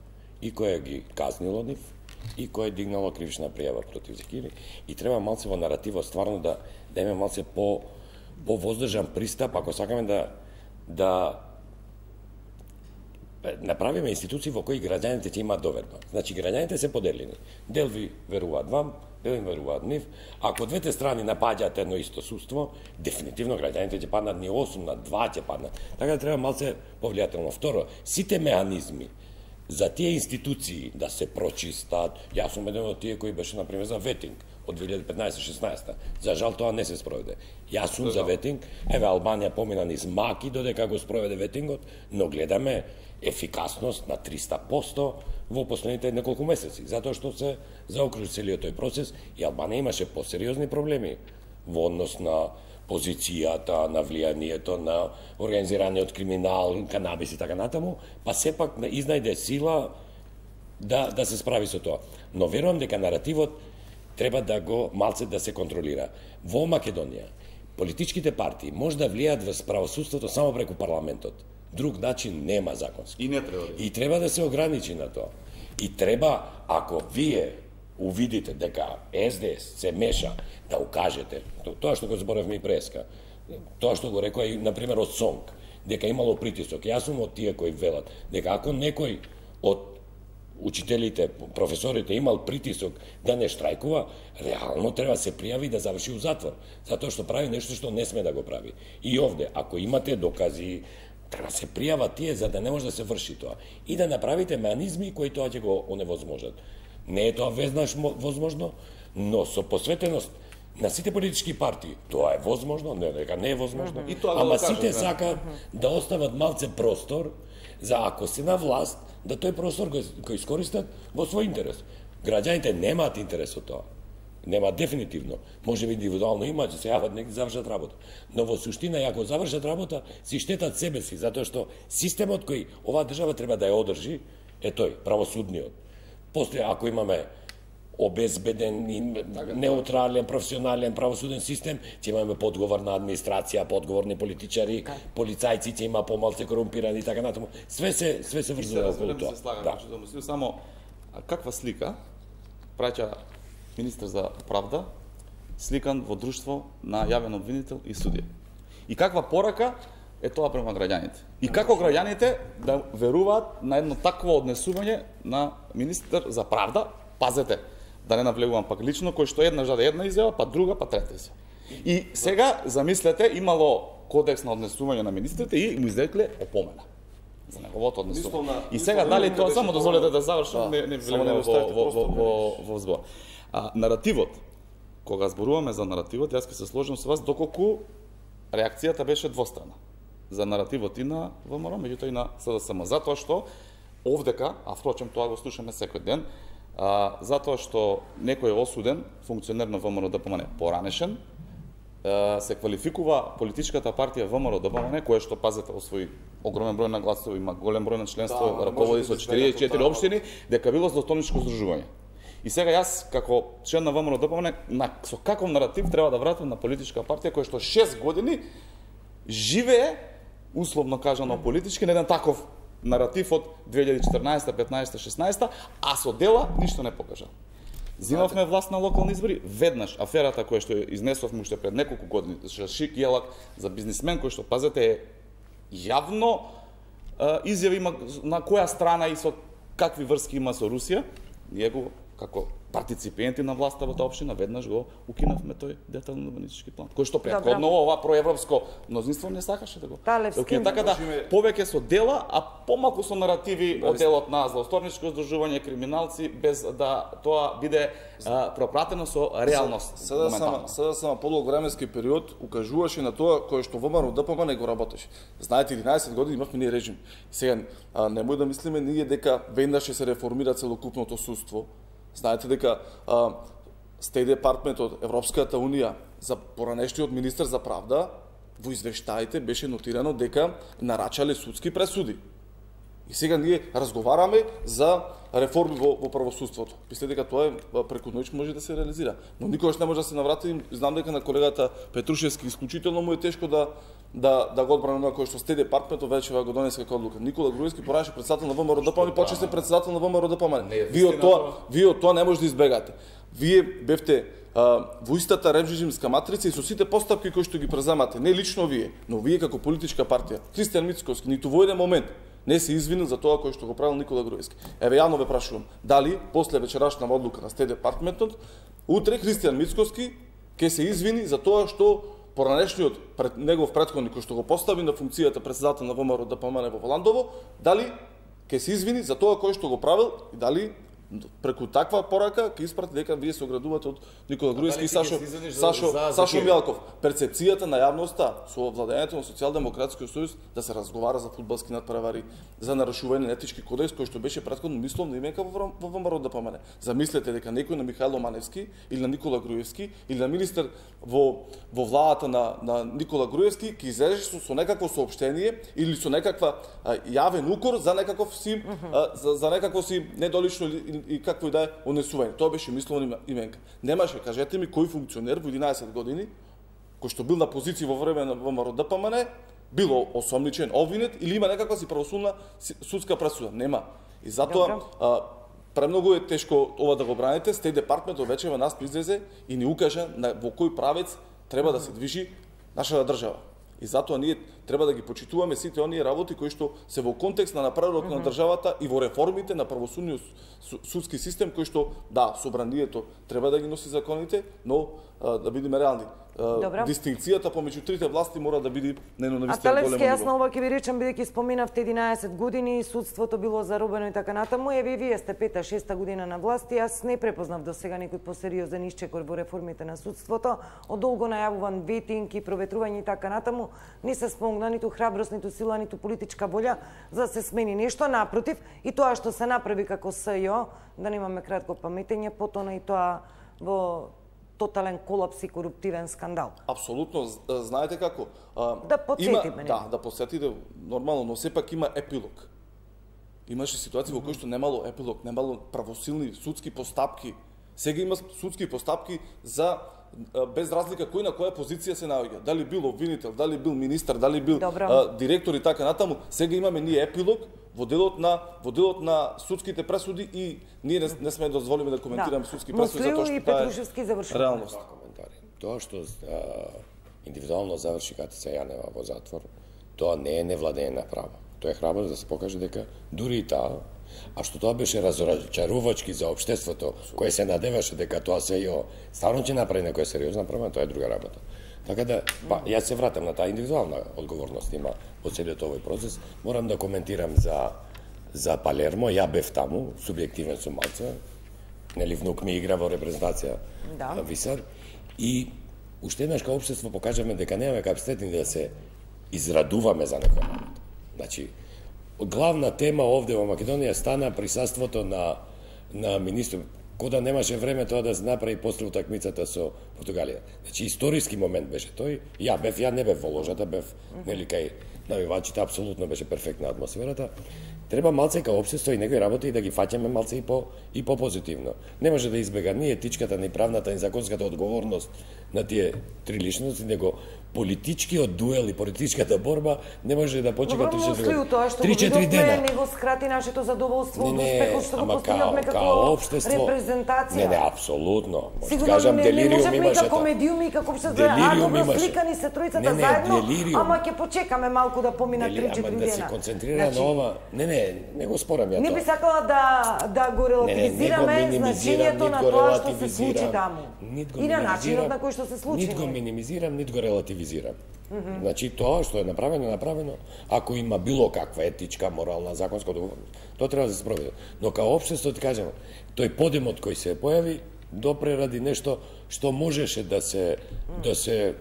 И кој ги казнило нив, и кој е дигнало кривична пријава против Зекири, и треба малце во наративот стварно да имаме малце по воздржан пристап, ако сакаме да направиме институции во кои граѓаните ќе имаат доверба. Значи, граѓаните се поделени. Дел ви веруваат вам, дел им веруваат нив. Ако двете страни напаѓаат едно исто судство, дефинитивно граѓаните ќе паднат ни 8 на 2 ќе паднат. Така да треба малце повлијателно. Второ, сите механизми за тие институции да се прочистат, јас сум еден од тие кои беше, например, за ветинг од 2015-16. За жал тоа не се спроведе. Јас сум за ветинг, еве Албанија помина низ маки додека го спроведе ветингот, но гледаме ефикасност на 300% во последните неколку месеци, затоа што се заокружи целиот тој процес и Албанија имаше посериозни проблеми во однос на позицијата, на влијанието, на организираниот криминал, канабис и така натаму, па сепак изнајде сила да се справи со тоа. Но верувам дека наративот треба да го малце да се контролира. Во Македонија, политичките партии може да влијаат во правосудството само преку парламентот. Друг начин нема законски. И не треба. И треба да се ограничи на тоа. И треба, ако вие увидите дека СДС се меша, да укажете, тоа што го зборевме и преска, тоа што го рекоа и, например, од СОНК, дека имало притисок. Јас сум од тие кои велат дека ако некој од учителите, професорите имал притисок да не штрајкува, реално треба се пријави да заврши у затвор, затоа што прави нешто што не сме да го прави. И овде, ако имате докази, треба се пријава тие за да не може да се врши тоа и да направите механизми кои тоа ќе го оневозможат. Не е тоа веднаш возможно, но со посветеност на сите политички партии тоа е возможно, не дека не е возможно. Ама сите сакаат да остават малце простор за ако се на власт, да тој простор го искористат во свој интерес. Граѓаните немаат интерес од тоа. Нема дефинитивно. Може би индивидуално имаат, се јават некои завршат работа. Но во суштина, ако завршат работа, си штетат себе си, затоа што системот кој оваа држава треба да ја одржи е тој, правосудниот. После, ако имаме обезбеден, неутрален, професионален правосуден систем, ќе имаме подговорна администрација, подговорни политичари, полицајци ќе има помалце корумпирани и така натаму. Све се врзува околу тоа. Да. Само каква слика праќа министер за правда сликан во друштво на јавен обвинител и судија? И каква порака е тоа према граѓаните? И како граѓаните да веруваат на едно такво однесување на министер за правда? Пазете, да не навлегувам пак лично, кој што еднаш даде една изјава, па друга, па трета изјава. И сега, замислете, имало кодекс на однесување на министрите и му изрекле опомена за неговото однесување. И сега, дали тоа, само дозволете да завршам, не влегувам во збор. Наративот, кога зборуваме за наративот, јас ќе се сложам со вас доколку реакцијата беше двострана. За наративот и на ВМРО, меѓутоа и на СДСМ. Затоа што овдека, а впрочем тоа го слушаме секој ден, затоа што некој е осуден, функционер на ВМРО-ДПМН поранешен, се квалификува политичката партија ВМРО-ДПМН, која што, пазете, освои огромен број на гласови, има голем број на членство, раководи со 44 општини, дека било злостоничко здружување. И сега јас, како член на ВМРО-ДПМН, со каков наратив треба да вратам на политичка партија која што 6 години живее, условно кажано политички, на еден таков наратив од 2014, 15, 16, а со дела ништо не покажа. Зимавме власт на локални избори, веднаш аферата која што изнесовме уште пред неколку години, Шашик Јелак за бизнисмен кој што, пазете, е јавно изјави има на која страна и со какви врски има со Русија, ние го како партиципенти на власта во таа општина веднаш го укинавме тој детален урбанистички план, кој што претходно ова проевропско мнозинство не сакаше да го укине. Така да повеќе со дела, а помалку со наративи од делот на злосторничко здружување, криминалци, без да тоа биде пропратено со реалност. Сега само подолг временски период укажуваше на тоа кое што ВМРО-ДПМН не го работеше. Знаете, 11 години имавме ние режим. Сега немој да мислиме ние дека веднаш ќе се реформира целокупното судство. Знаете дека Стејт департментот, Европската унија, за поранешниот министер за правда, во извештаите беше нотирано дека нарачале судски пресуди. И сега ние разговараме за реформи во правосудството. Мисле дека тоа преку ноќ може да се реализира. Но никогаш не може да се наврати. Знам дека на колегата Петрушевски исклучително му е тешко да го одбрани на кој што сте департаментот вече го донесе како одлука. Никола Груевски поранеше председател на ВМРО ДПМН, почесте председател на ВМРО ДПМН. Вие од тоа не може да избегате. Вие бевте во истата режимска матрица и со сите постапки кои што ги преземате, не лично вие, но вие како политичка партија. Христијан Мицковски ниту во еден момент не се извинил за тоа кој што го правил Никола Груевски. Еве јавно ве прашувам, дали после вечерашна одлука на Стеј департаментот, утре Христијан Мицковски ќе се извини за тоа што поранешниот негов претходник кој што го постави на функцијата председател на ВМРО ДПМН во Воландово, дали ќе се извини за тоа кој што го правил и дали преку таква порака ќе испрати дека вие се оградувате од Никола Груевски и Сашо Мјалков. Перцепцијата на јавноста со владењето на Социјалдемократскиот сојуз да се разговара за фудбалски надпревари, за нарушување на етички кодекс кој што беше претходно мисловна именка во ВМРО ДПМН. Замислете дека некој на Михајло Маневски или на Никола Груевски или на министер во владата на Никола Груевски ќе излезеше со некакво соопштение или со некаква јавен укор за некаков си за некакво си недолично и какво и да е однесување. Тоа беше мисловна именка. Немаше, кажете ми, кој функционер во 11 години, кој што бил на позиција во време на ВМРО ДПМН, било осомничен, обвинет или има некаква си правосудна судска пресуда. Нема. И затоа премногу е тешко ова да го браните. Стеј департаментот вече во нас излезе и ни укажа во кој правец треба да се движи нашата држава. И затоа ние треба да ги почитуваме сите оние работи кои што се во контекст на напредокот на државата и во реформите на правосудниот судски систем кој што да, собранието треба да ги носи законите, но да бидеме реални. Дистинкцијата помеѓу трите власти мора да биде на вистина големо ниво. Јас на ова ќе ви речам, бидејќи споминавте 11 години, судството било заробено и така натаму, еве вие сте 5-6 година на власт и јас не препознав до сега некој посериозен исчекор во реформите на судството, од долго најавуван ветинг и проветрување и така натаму, не се спомогна ниту храброст, ниту сила, ниту политичка волја за да се смени нешто, напротив, и тоа што се направи како СЈО, да немаме кратко паметење, потоа и тоа во тотален колапс и коруптивен скандал. Апсолутно, знаете како? Да подсетиме. Да подсетите нормално, но сепак има епилог. Имаше ситуации во кои што немало епилог, немало правосилни судски постапки. Сега има судски постапки за без разлика кој на која позиција се наоѓа. Дали бил обвинител, дали бил министар, дали бил директор и така натаму. Сега имаме ние епилог во делот на судските пресуди и ние не сме дозволиме да коментираме судски пресуди затоа што тоа е реалност. Тоа што индивидуално заврши Катица Јанева во затвор, тоа не е невладење на право. Тоа е храброст да се покаже дека дури и таа, а што тоа беше разочарувачки за општеството, кое се надеваше дека тоа СЈО стварно ќе направи некоја сериозна промена, тоа е друга работа. Така да, јас се вратам на таа индивидуална одговорност има во целиот овој процес. Морам да коментирам за Палермо, ја бев таму, субјективен сум малце, нели внук ми игра во репрезентација Висар, и уште еднаш као општество покажаме дека немаме капацитет да се израдуваме за некоја работа. Значи, главна тема овде во Македонија стана присуството на министр, кода немаше време тоа да се направи после утакмицата со Португалија. Значи, историски момент беше тој. Ја не бев во ложата, бев нели кај навивачите, апсолутно беше перфектна атмосферата. Треба малце као општество и некои работи и да ги фаќаме малце и по позитивно. Не може да избега ни етичката, ни правната, ни законската одговорност на тие три личности, него политичкиот дуел и политичката борба не може да почека 3-4 дена. Не го скрати нашето задоволство од успехот што го постигнавме како репрезентација. Не, апсолутно. Може кажам, делириум имаше. Како медиуми, како добро сликани се тројцата заедно, ама ќе почекаме малку да поминат 3-4 дена. Да се концентрира на ова. Не го спорам ја тоа. Не би сакала да го релативизираме значењето на тоа што се случи таму. И на начинот на кој што се случи. Нит го минимизирам, нит го релативизирам. Значи тоа што е направено, ако има било каква етичка, морална, законска одговорност, тоа треба да се спроведе. Но као општество ти кажам, тој подемот кој се појави допре ради нешто што можеше да се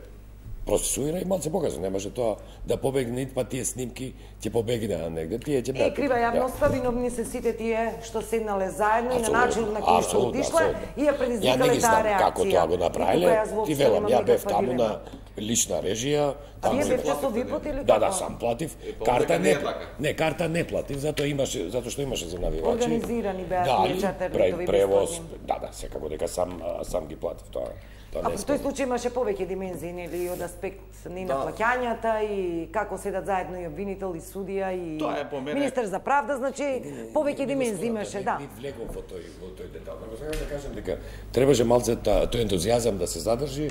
процесуира и малце показа. Немаше тоа да побегне, па тие снимки ќе побегнеа негде, тие ќе беа. Крива јавноста, виновни се сите тие што седнале заедно и на начин на кој што отишла и ја предизвикале таа реакција. Како тоа го направиле, ти велам, ја бев таму на лична режија. А вие бевте со випот или Да, како? сам платив. Карта не е така. Не, карта не платив, затоа што имаше за навигација. Организирани беа тие чартерни превоз, да, секако дека сам ги платив тоа. А во тој случај имаше повеќе димензии, нели, од аспект и на плаќањата и како седат заедно и обвинител и судија и министер за правда, значи повеќе димензии имаше, да. Не влегов во тој детал. Него сега да кажам дека требаше малце тој ентузијазам да се задржи,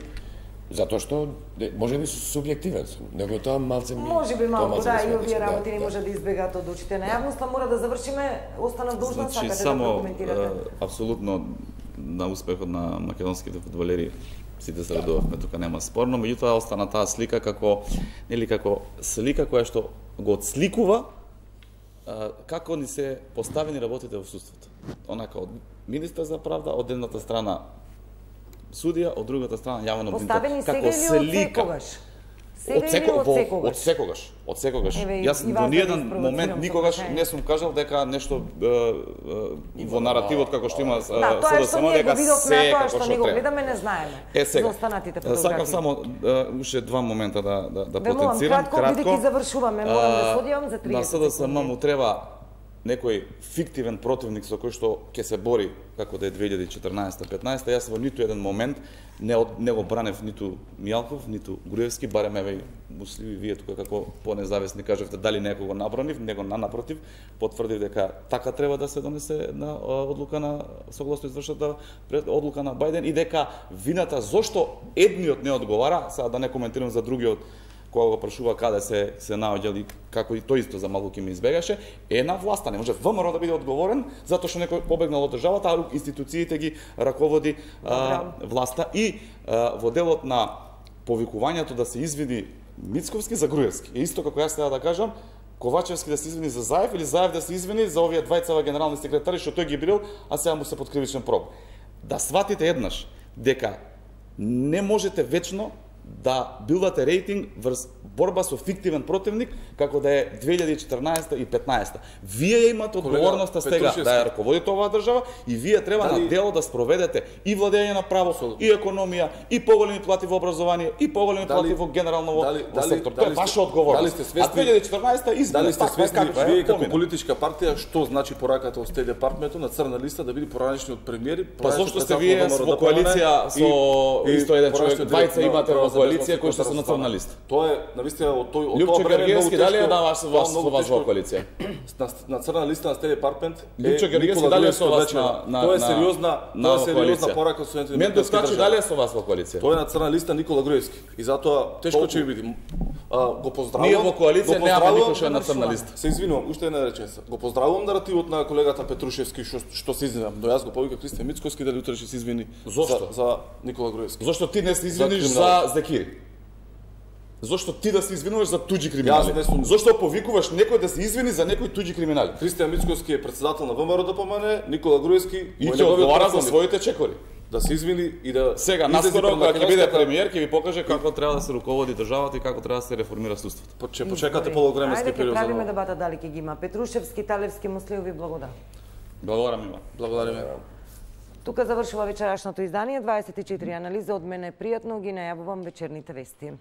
затоа што можеби субјективен сум, него тоа малце ми можеби малку, да, и овие работи не може да избегаат од очите на јавноста. Мора да завршиме, останав должна, сакате да прокоментирате. Апсолутно на успехот на македонските фудбалери сите се радувавме, тука нема спорно, меѓутоа остана таа слика како слика која што го отсликува како ни се поставени работите во судството. Онака од министер за правда, од едната страна судија, од другата страна јавен обвинител. Поставени сега или од секогаш? Од секогаш. Јас до ниеден момент никогаш не сум кажал дека нешто во наративот како што има СДСМ дека се како што него гледаме не знаеме. За останатите фотографии. Сакам само уште два момента да потенцирам кратко. Бидејќи завршуваме, морам да одиам за 30 секунди. На СДСМ му треба некој фиктивен противник со кој што ќе се бори како да е 2014-15, јас во ниту еден момент не го бранев ниту Мијалков, ниту Груевски, барем еве Мусливи вие тука како понезависни кажавте дали некого набранив, него напротив, потврдив дека така треба да се донесе на одлука на согласно извршната одлука на Бајден и дека вината зошто едниот не одговара, сега да не коментирам за другиот кога го прашува каде се наоѓали, како и тој исто за малку ќе ме избегаше, е на власта. Не може ВМРО да биде одговорен затоа што некој побегнал од државата, а институциите ги раководи власта. И во делот на повикувањето да се извини Мицковски за Груевски, е исто како јас сега да кажам, Ковачевски да се извини за Заев или Заев да се извини за овие двајцава генерални секретари што тој ги бил, а сега му се под кривичен прогон. Да сватите еднаш дека не можете вечно да билдате рейтинг врз борба со фиктивен противник, како да е 2014 и 15. Вие имате одговорноста сега да ја раководите оваа држава и вие треба на дело да спроведете и владење на право, и економија, и поголеми плати во образование, и поголеми плати во генерално во сектор. Тоа е ваша одговорност. А 2014 избор. Дали сте свесни вие како политичка партија што значи пораката од Стеј департментот на црна листа да биде поранешни од премиери? Па зошто сте вие во коалиција со исто еден човек, двајца имате во коалиција кои што се на црна листа? Тоа е навистина од тој Лјупчо Георгиевски дали е на вас во коалиција? На црна листа на Стеј департмент Лјупчо Георгиевски дали е со вас на тоа е сериозна порака со студентите. Мен доскачи дали е со вас во коалиција? Тоа е на црна листа Никола Груевски и затоа тешко ќе биде. Го поздравувам. Ние во коалиција немаме никој што е на црна листа. Се извинувам, уште една реченица. Го поздравувам наративот на колегата Петрушевски што се извинам. Но јас го повика Кристијан Мицковски дали утре ќе се извини за Никола Груевски. Зошто ти не се извиниш за Зекири? Зошто ти да се извинуваш за туѓи криминали? Зошто повикуваш некој да се извини за некој туѓи криминали? Кристијан Мицковски е председател на ВМРО ДПМН, Никола Груевски и ќе одговара за своите чекори. Да се извини и да сега наскоро кога ќе биде премиер ќе ви покаже како треба да се руководи државата и како треба да се реформира судството. Ќе почекате полувременски период. Ајде ќе правиме дебата дали ќе ги има Петрушевски, Талевски, Муслиови, благодарам. Благодарам има. Благодариме. Тука завршува вечерашното издание 24 анализа од мене пријатно ги најавувам вечерните вести.